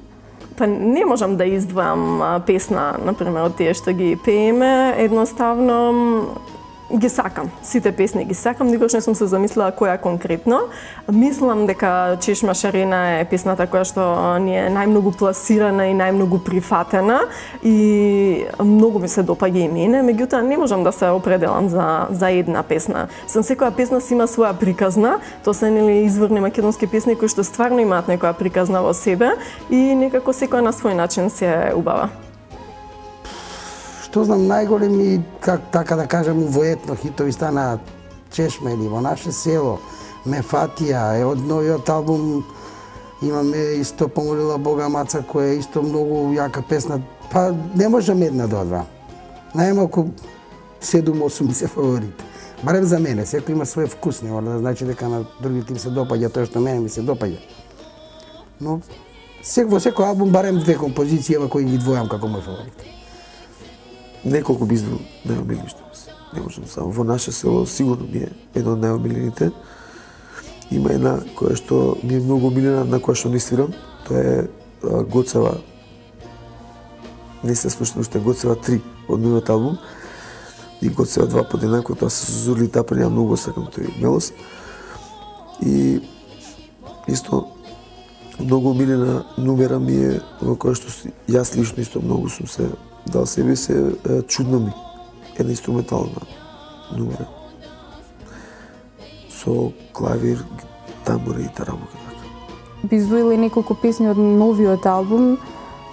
Па не можам да издвојам песна, например, од тие што ги пееме, едноставно ги сакам. Сите песни ги сакам, никош не сум се замислила која конкретно. Мислам дека Чешма Шарена е песната која што ни е најмногу пласирана и најмногу прифатена и многу ми се допаѓа и мене, меѓутоа не можам да се определам за една песна. Секоја песна си има своја приказна, тоа се нели изворни македонски песни кои што стварно имаат некоја приказна во себе и некако секоја на свој начин се е убава. Што знам, најголеми, така да кажем, воетно хитови стана Чешма или во наше село, Мефатија е од новиот албум, имаме исто Помолила Бога Маца, која е исто многу јака песна, па не можам една до два. Најмалку 7-8 ми се фаворит. Барем за мене, секој има свој вкус, не мора да значи дека на другите им се допаѓа тоа што мене ми се допаѓа. Но во секој албум барем две композиции кои ги двојам како мој фаворит. Неколку би издвоил најомилени што се. Не можам само. Во наше село сигурно ми е едно од најомилените. Има една која што ми е многу омилена, на која што не свирам. Тоа е Гоцева. Не се слушна уште Гоцева 3 од новиот албум. И Гоцева 2 подеднакво, тоа се со Зурли Тапани, ја многу сакам тој мелос. И исто многу омилена numera ми е во која што јас лично исто многу сум се дал себе се Чудно ми, една инструментална numera. Со клавир, тамбура и тарамука. Би издвоила и неколку песни од новиот албум,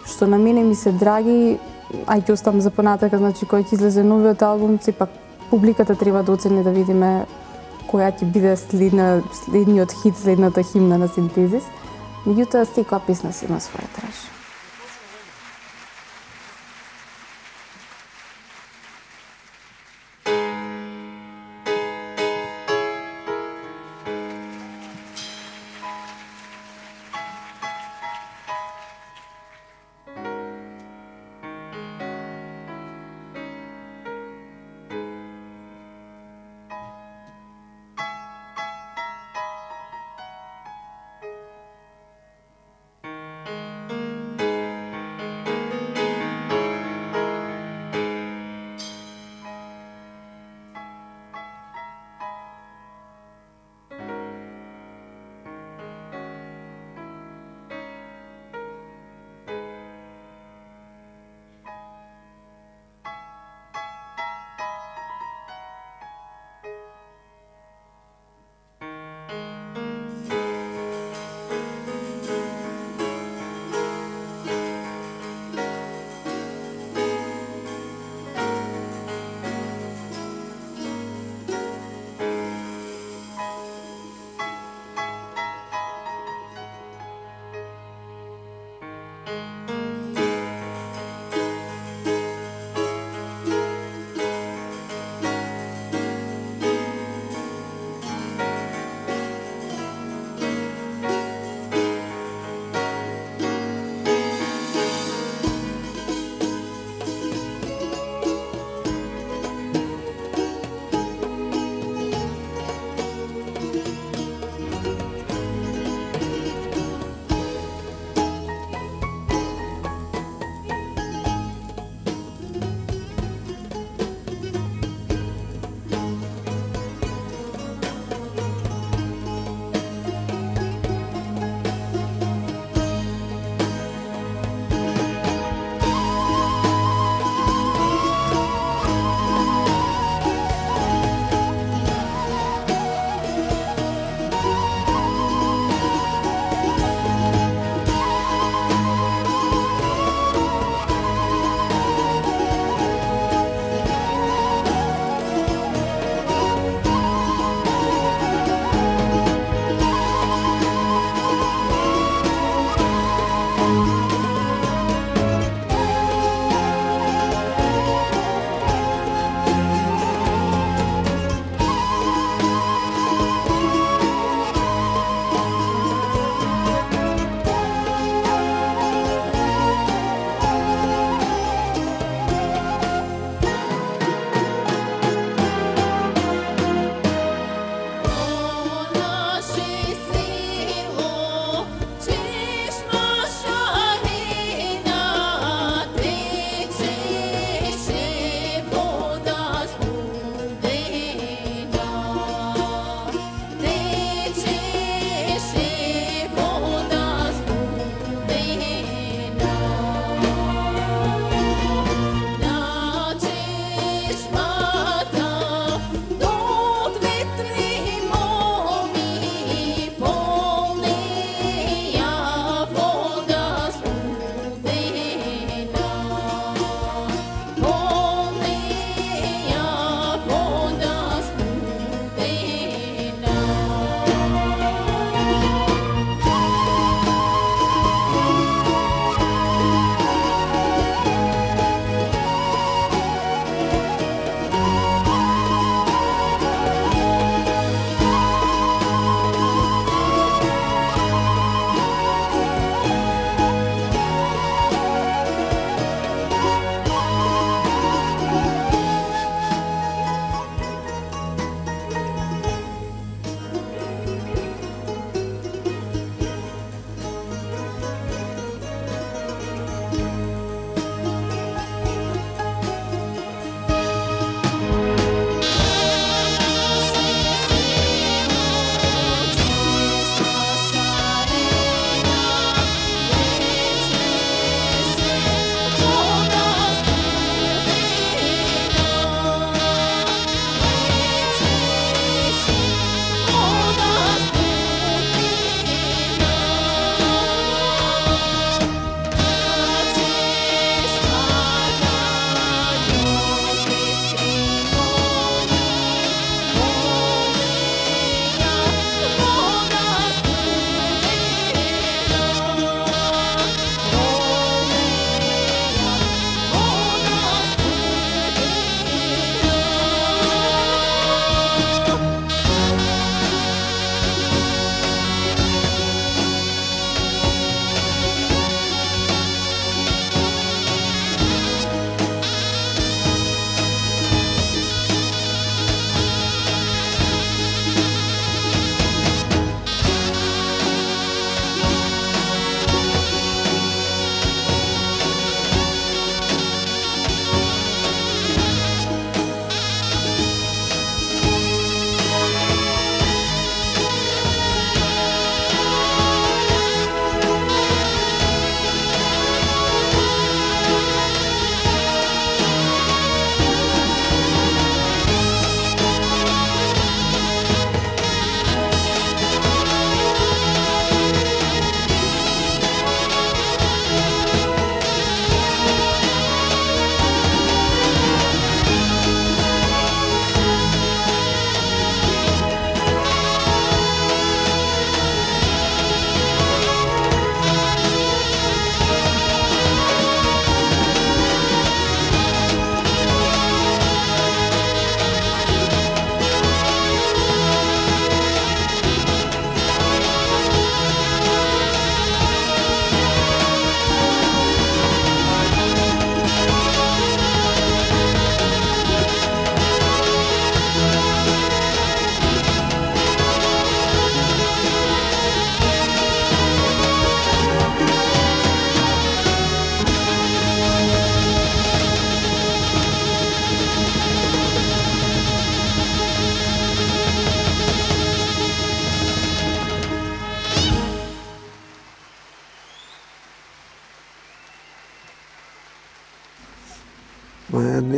што на мене ми се драги, а ќе оставам за понатака, значи кој ќе излезе новиот албум, сепак публиката треба да оцени да видиме која ќе биде следниот хит, следната химна на синтезис. Меѓутоа, секоја песна си има своја траж.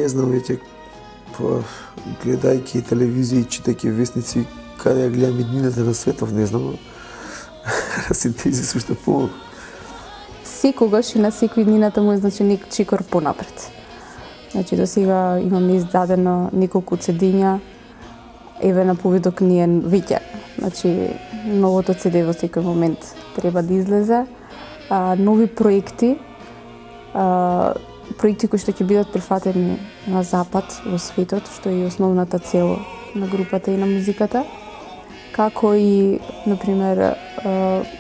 не знам веќе, гледајќи телевизија и читајќи вестници, каде ја гледам иднината на светов, не знам, синтези сушто помогу. Секогаш и на секој иднината му е значеник чикор понапред. Значи, до сега имаме издадено неколку CD-ња, еве на повидок ние веќе. Значи, новото CD во секој момент треба да излезе. Нови проекти, проекти кои што ќе бидат прифатени на запад, во светот, што е и основната цел на групата и на музиката. Како и, например,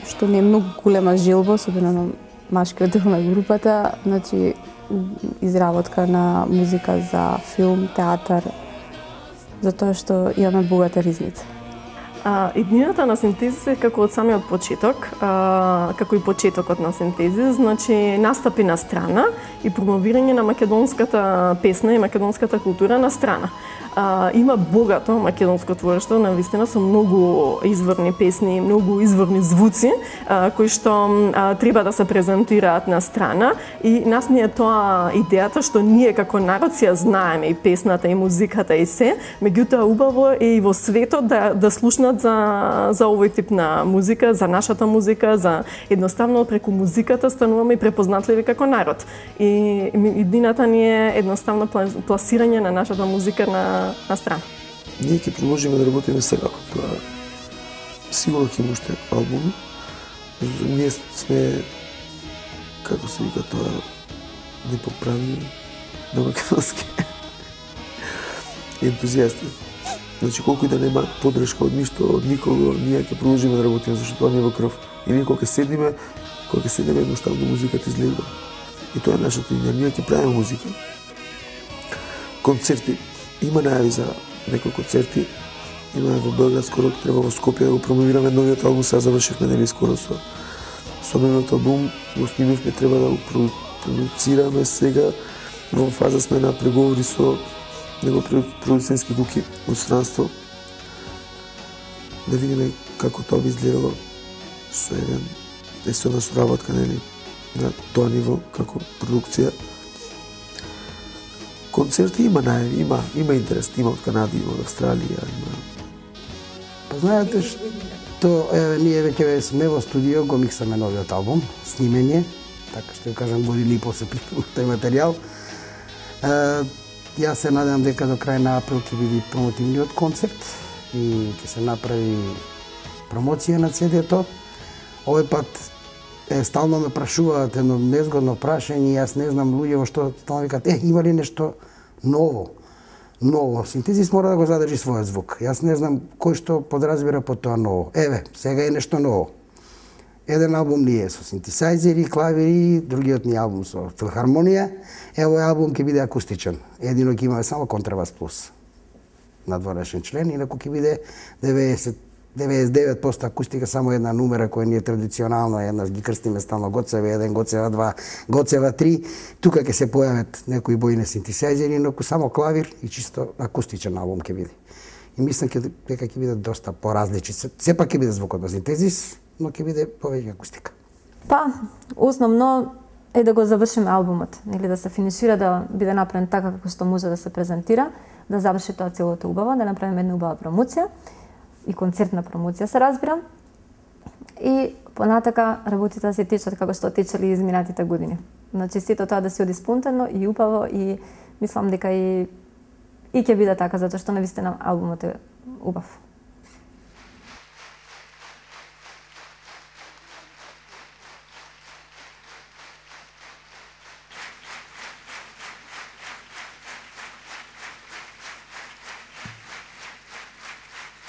што не е многу голема желба, особено на машкиот дел на групата, значи, изработка на музика за филм, театар, затоа што имаме богата ризница. Иднината на Синтезис е како од самиот почеток, како и почетокот на Синтезис, значи настапи на страна и промовирање на македонската песна и македонската култура на страна. Има богато македонско творештво, навистина со многу изворни песни, многу изворни звуци кои што треба да се презентираат на страна и нас ни е тоа идејата што ние како народ си ја знаеме и песната и музиката и се, меѓутоа убаво е и во светот да слушнат за овој тип на музика, за нашата музика, за едноставно преку музиката стануваме и препознатливи како народ. И иднината ни е едноставно пласирање на нашата музика на страна. Ние ќе продолжиме да работиме сега. Тоа сигурно ќе има уште албуми. Ние сме, како се вика тоа, непоправни на македонски ентузијасти. Значи, колку и да нема подршка од ништо, од никого, ние ќе продолжиме да работиме, зашто тоа не е во крв. И ние кога ќе седнеме едноставно музиката излегува. И тоа е нашата идеја. Ние ќе правиме музика. Концерти. Има најави за некои концерти. Има во Белград, скоро треба во Скопје да го промовираме новиот албум, сега завршивме нели скоро со новиот албум, го снимивме, треба да го продуцираме сега. Во фаза сме на преговори со него продуцентски куки од странство. Да видиме како тоа би изгледало со една соработка нели на тоа ниво како продукција. Концерти има најави, има интерес, има од Канада, има од Австралија, има. Па знаете што, ние веќе сме во студио, го миксаме новиот албум, снимење, така што ја кажам години и после тој материјал. Јас се надевам дека до крај на април ќе биде промотивниот концерт и ќе се направи промоција на CD-то. Овој пат стално ме прашуваат едно незгодно прашање и јас не знам луѓе во што стално викаат, има ли нешто ново? Ново. Синтезис мора да го задржи својот звук. Јас не знам кој што подразбира под тоа ново. Еве, сега е нешто ново. Еден албум ни е со синтесајзери, клавири, другиот ни албум со филхармонија. Овој албум ќе биде акустичен. Едино ќе имаме само контрабас плюс надворешен член, инаку ќе биде 99% акустика, само една numera која ни е традиционално, еднаш ги крстиме стално Гоцева 1, Гоцева 2, Гоцева 3. Тука ќе се појават некои бојни синтесајзери, инаку само клавир и чисто акустичен албум ќе биде. И мислам дека ќе биде доста поразличен. Сепак ќе биде звукот на Синтезис, но ќе биде повеќе акустика. Па, основно е да го завршиме албумот, нели да се финишира, да биде направен така како што може да се презентира, да заврши тоа целото убаво, да направиме една убава промоција и концертна промоција се разбирам. И понатака работите да се течат како што течели изминатите години. Значи сето тоа да се оди спонтано и убаво и мислам дека и ќе биде така затоа што навистина албумот е убав.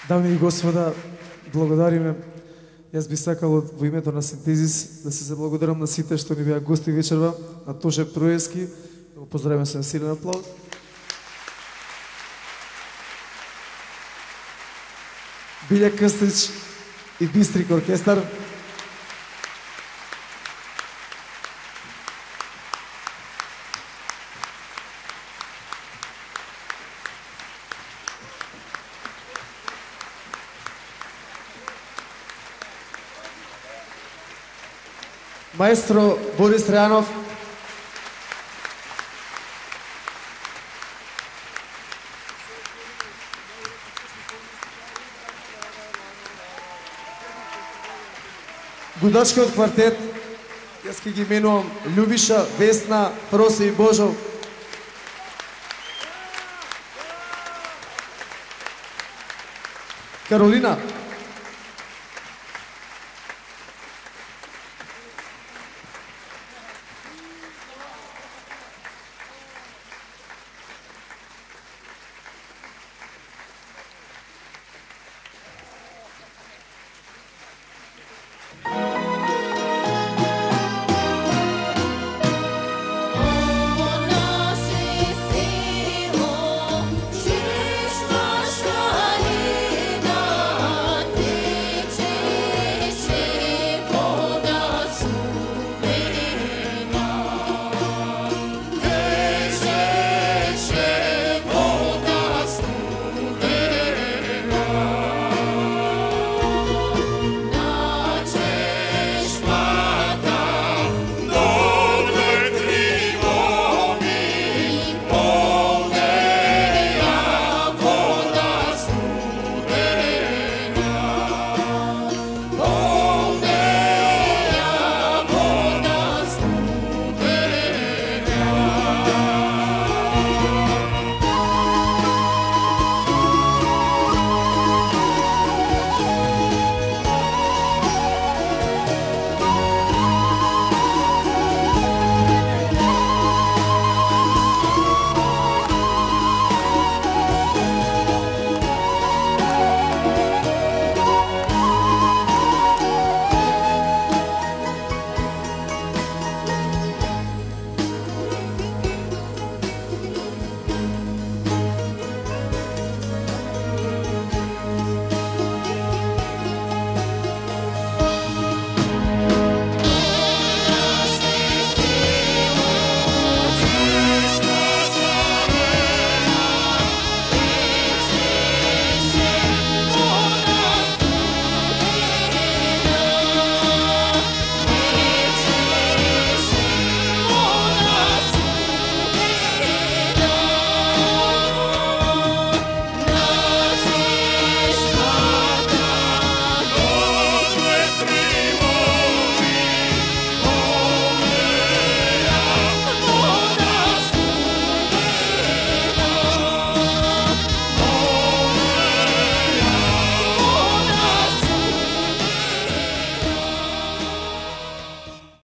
Дами и господа, благодариме. Јас би сакал во името на Синтезис да се заблагодарам на сите што ни беа гости вечерва, на Тоше Троевски, да го поздравиме со силен аплауз. Билјак Крстич и Бистрик оркестар. Маестро Борис Трајанов. Гудачкиот квартет, јас ќе ги именувам Љубиша, Весна, Просе и Божо. Каролина,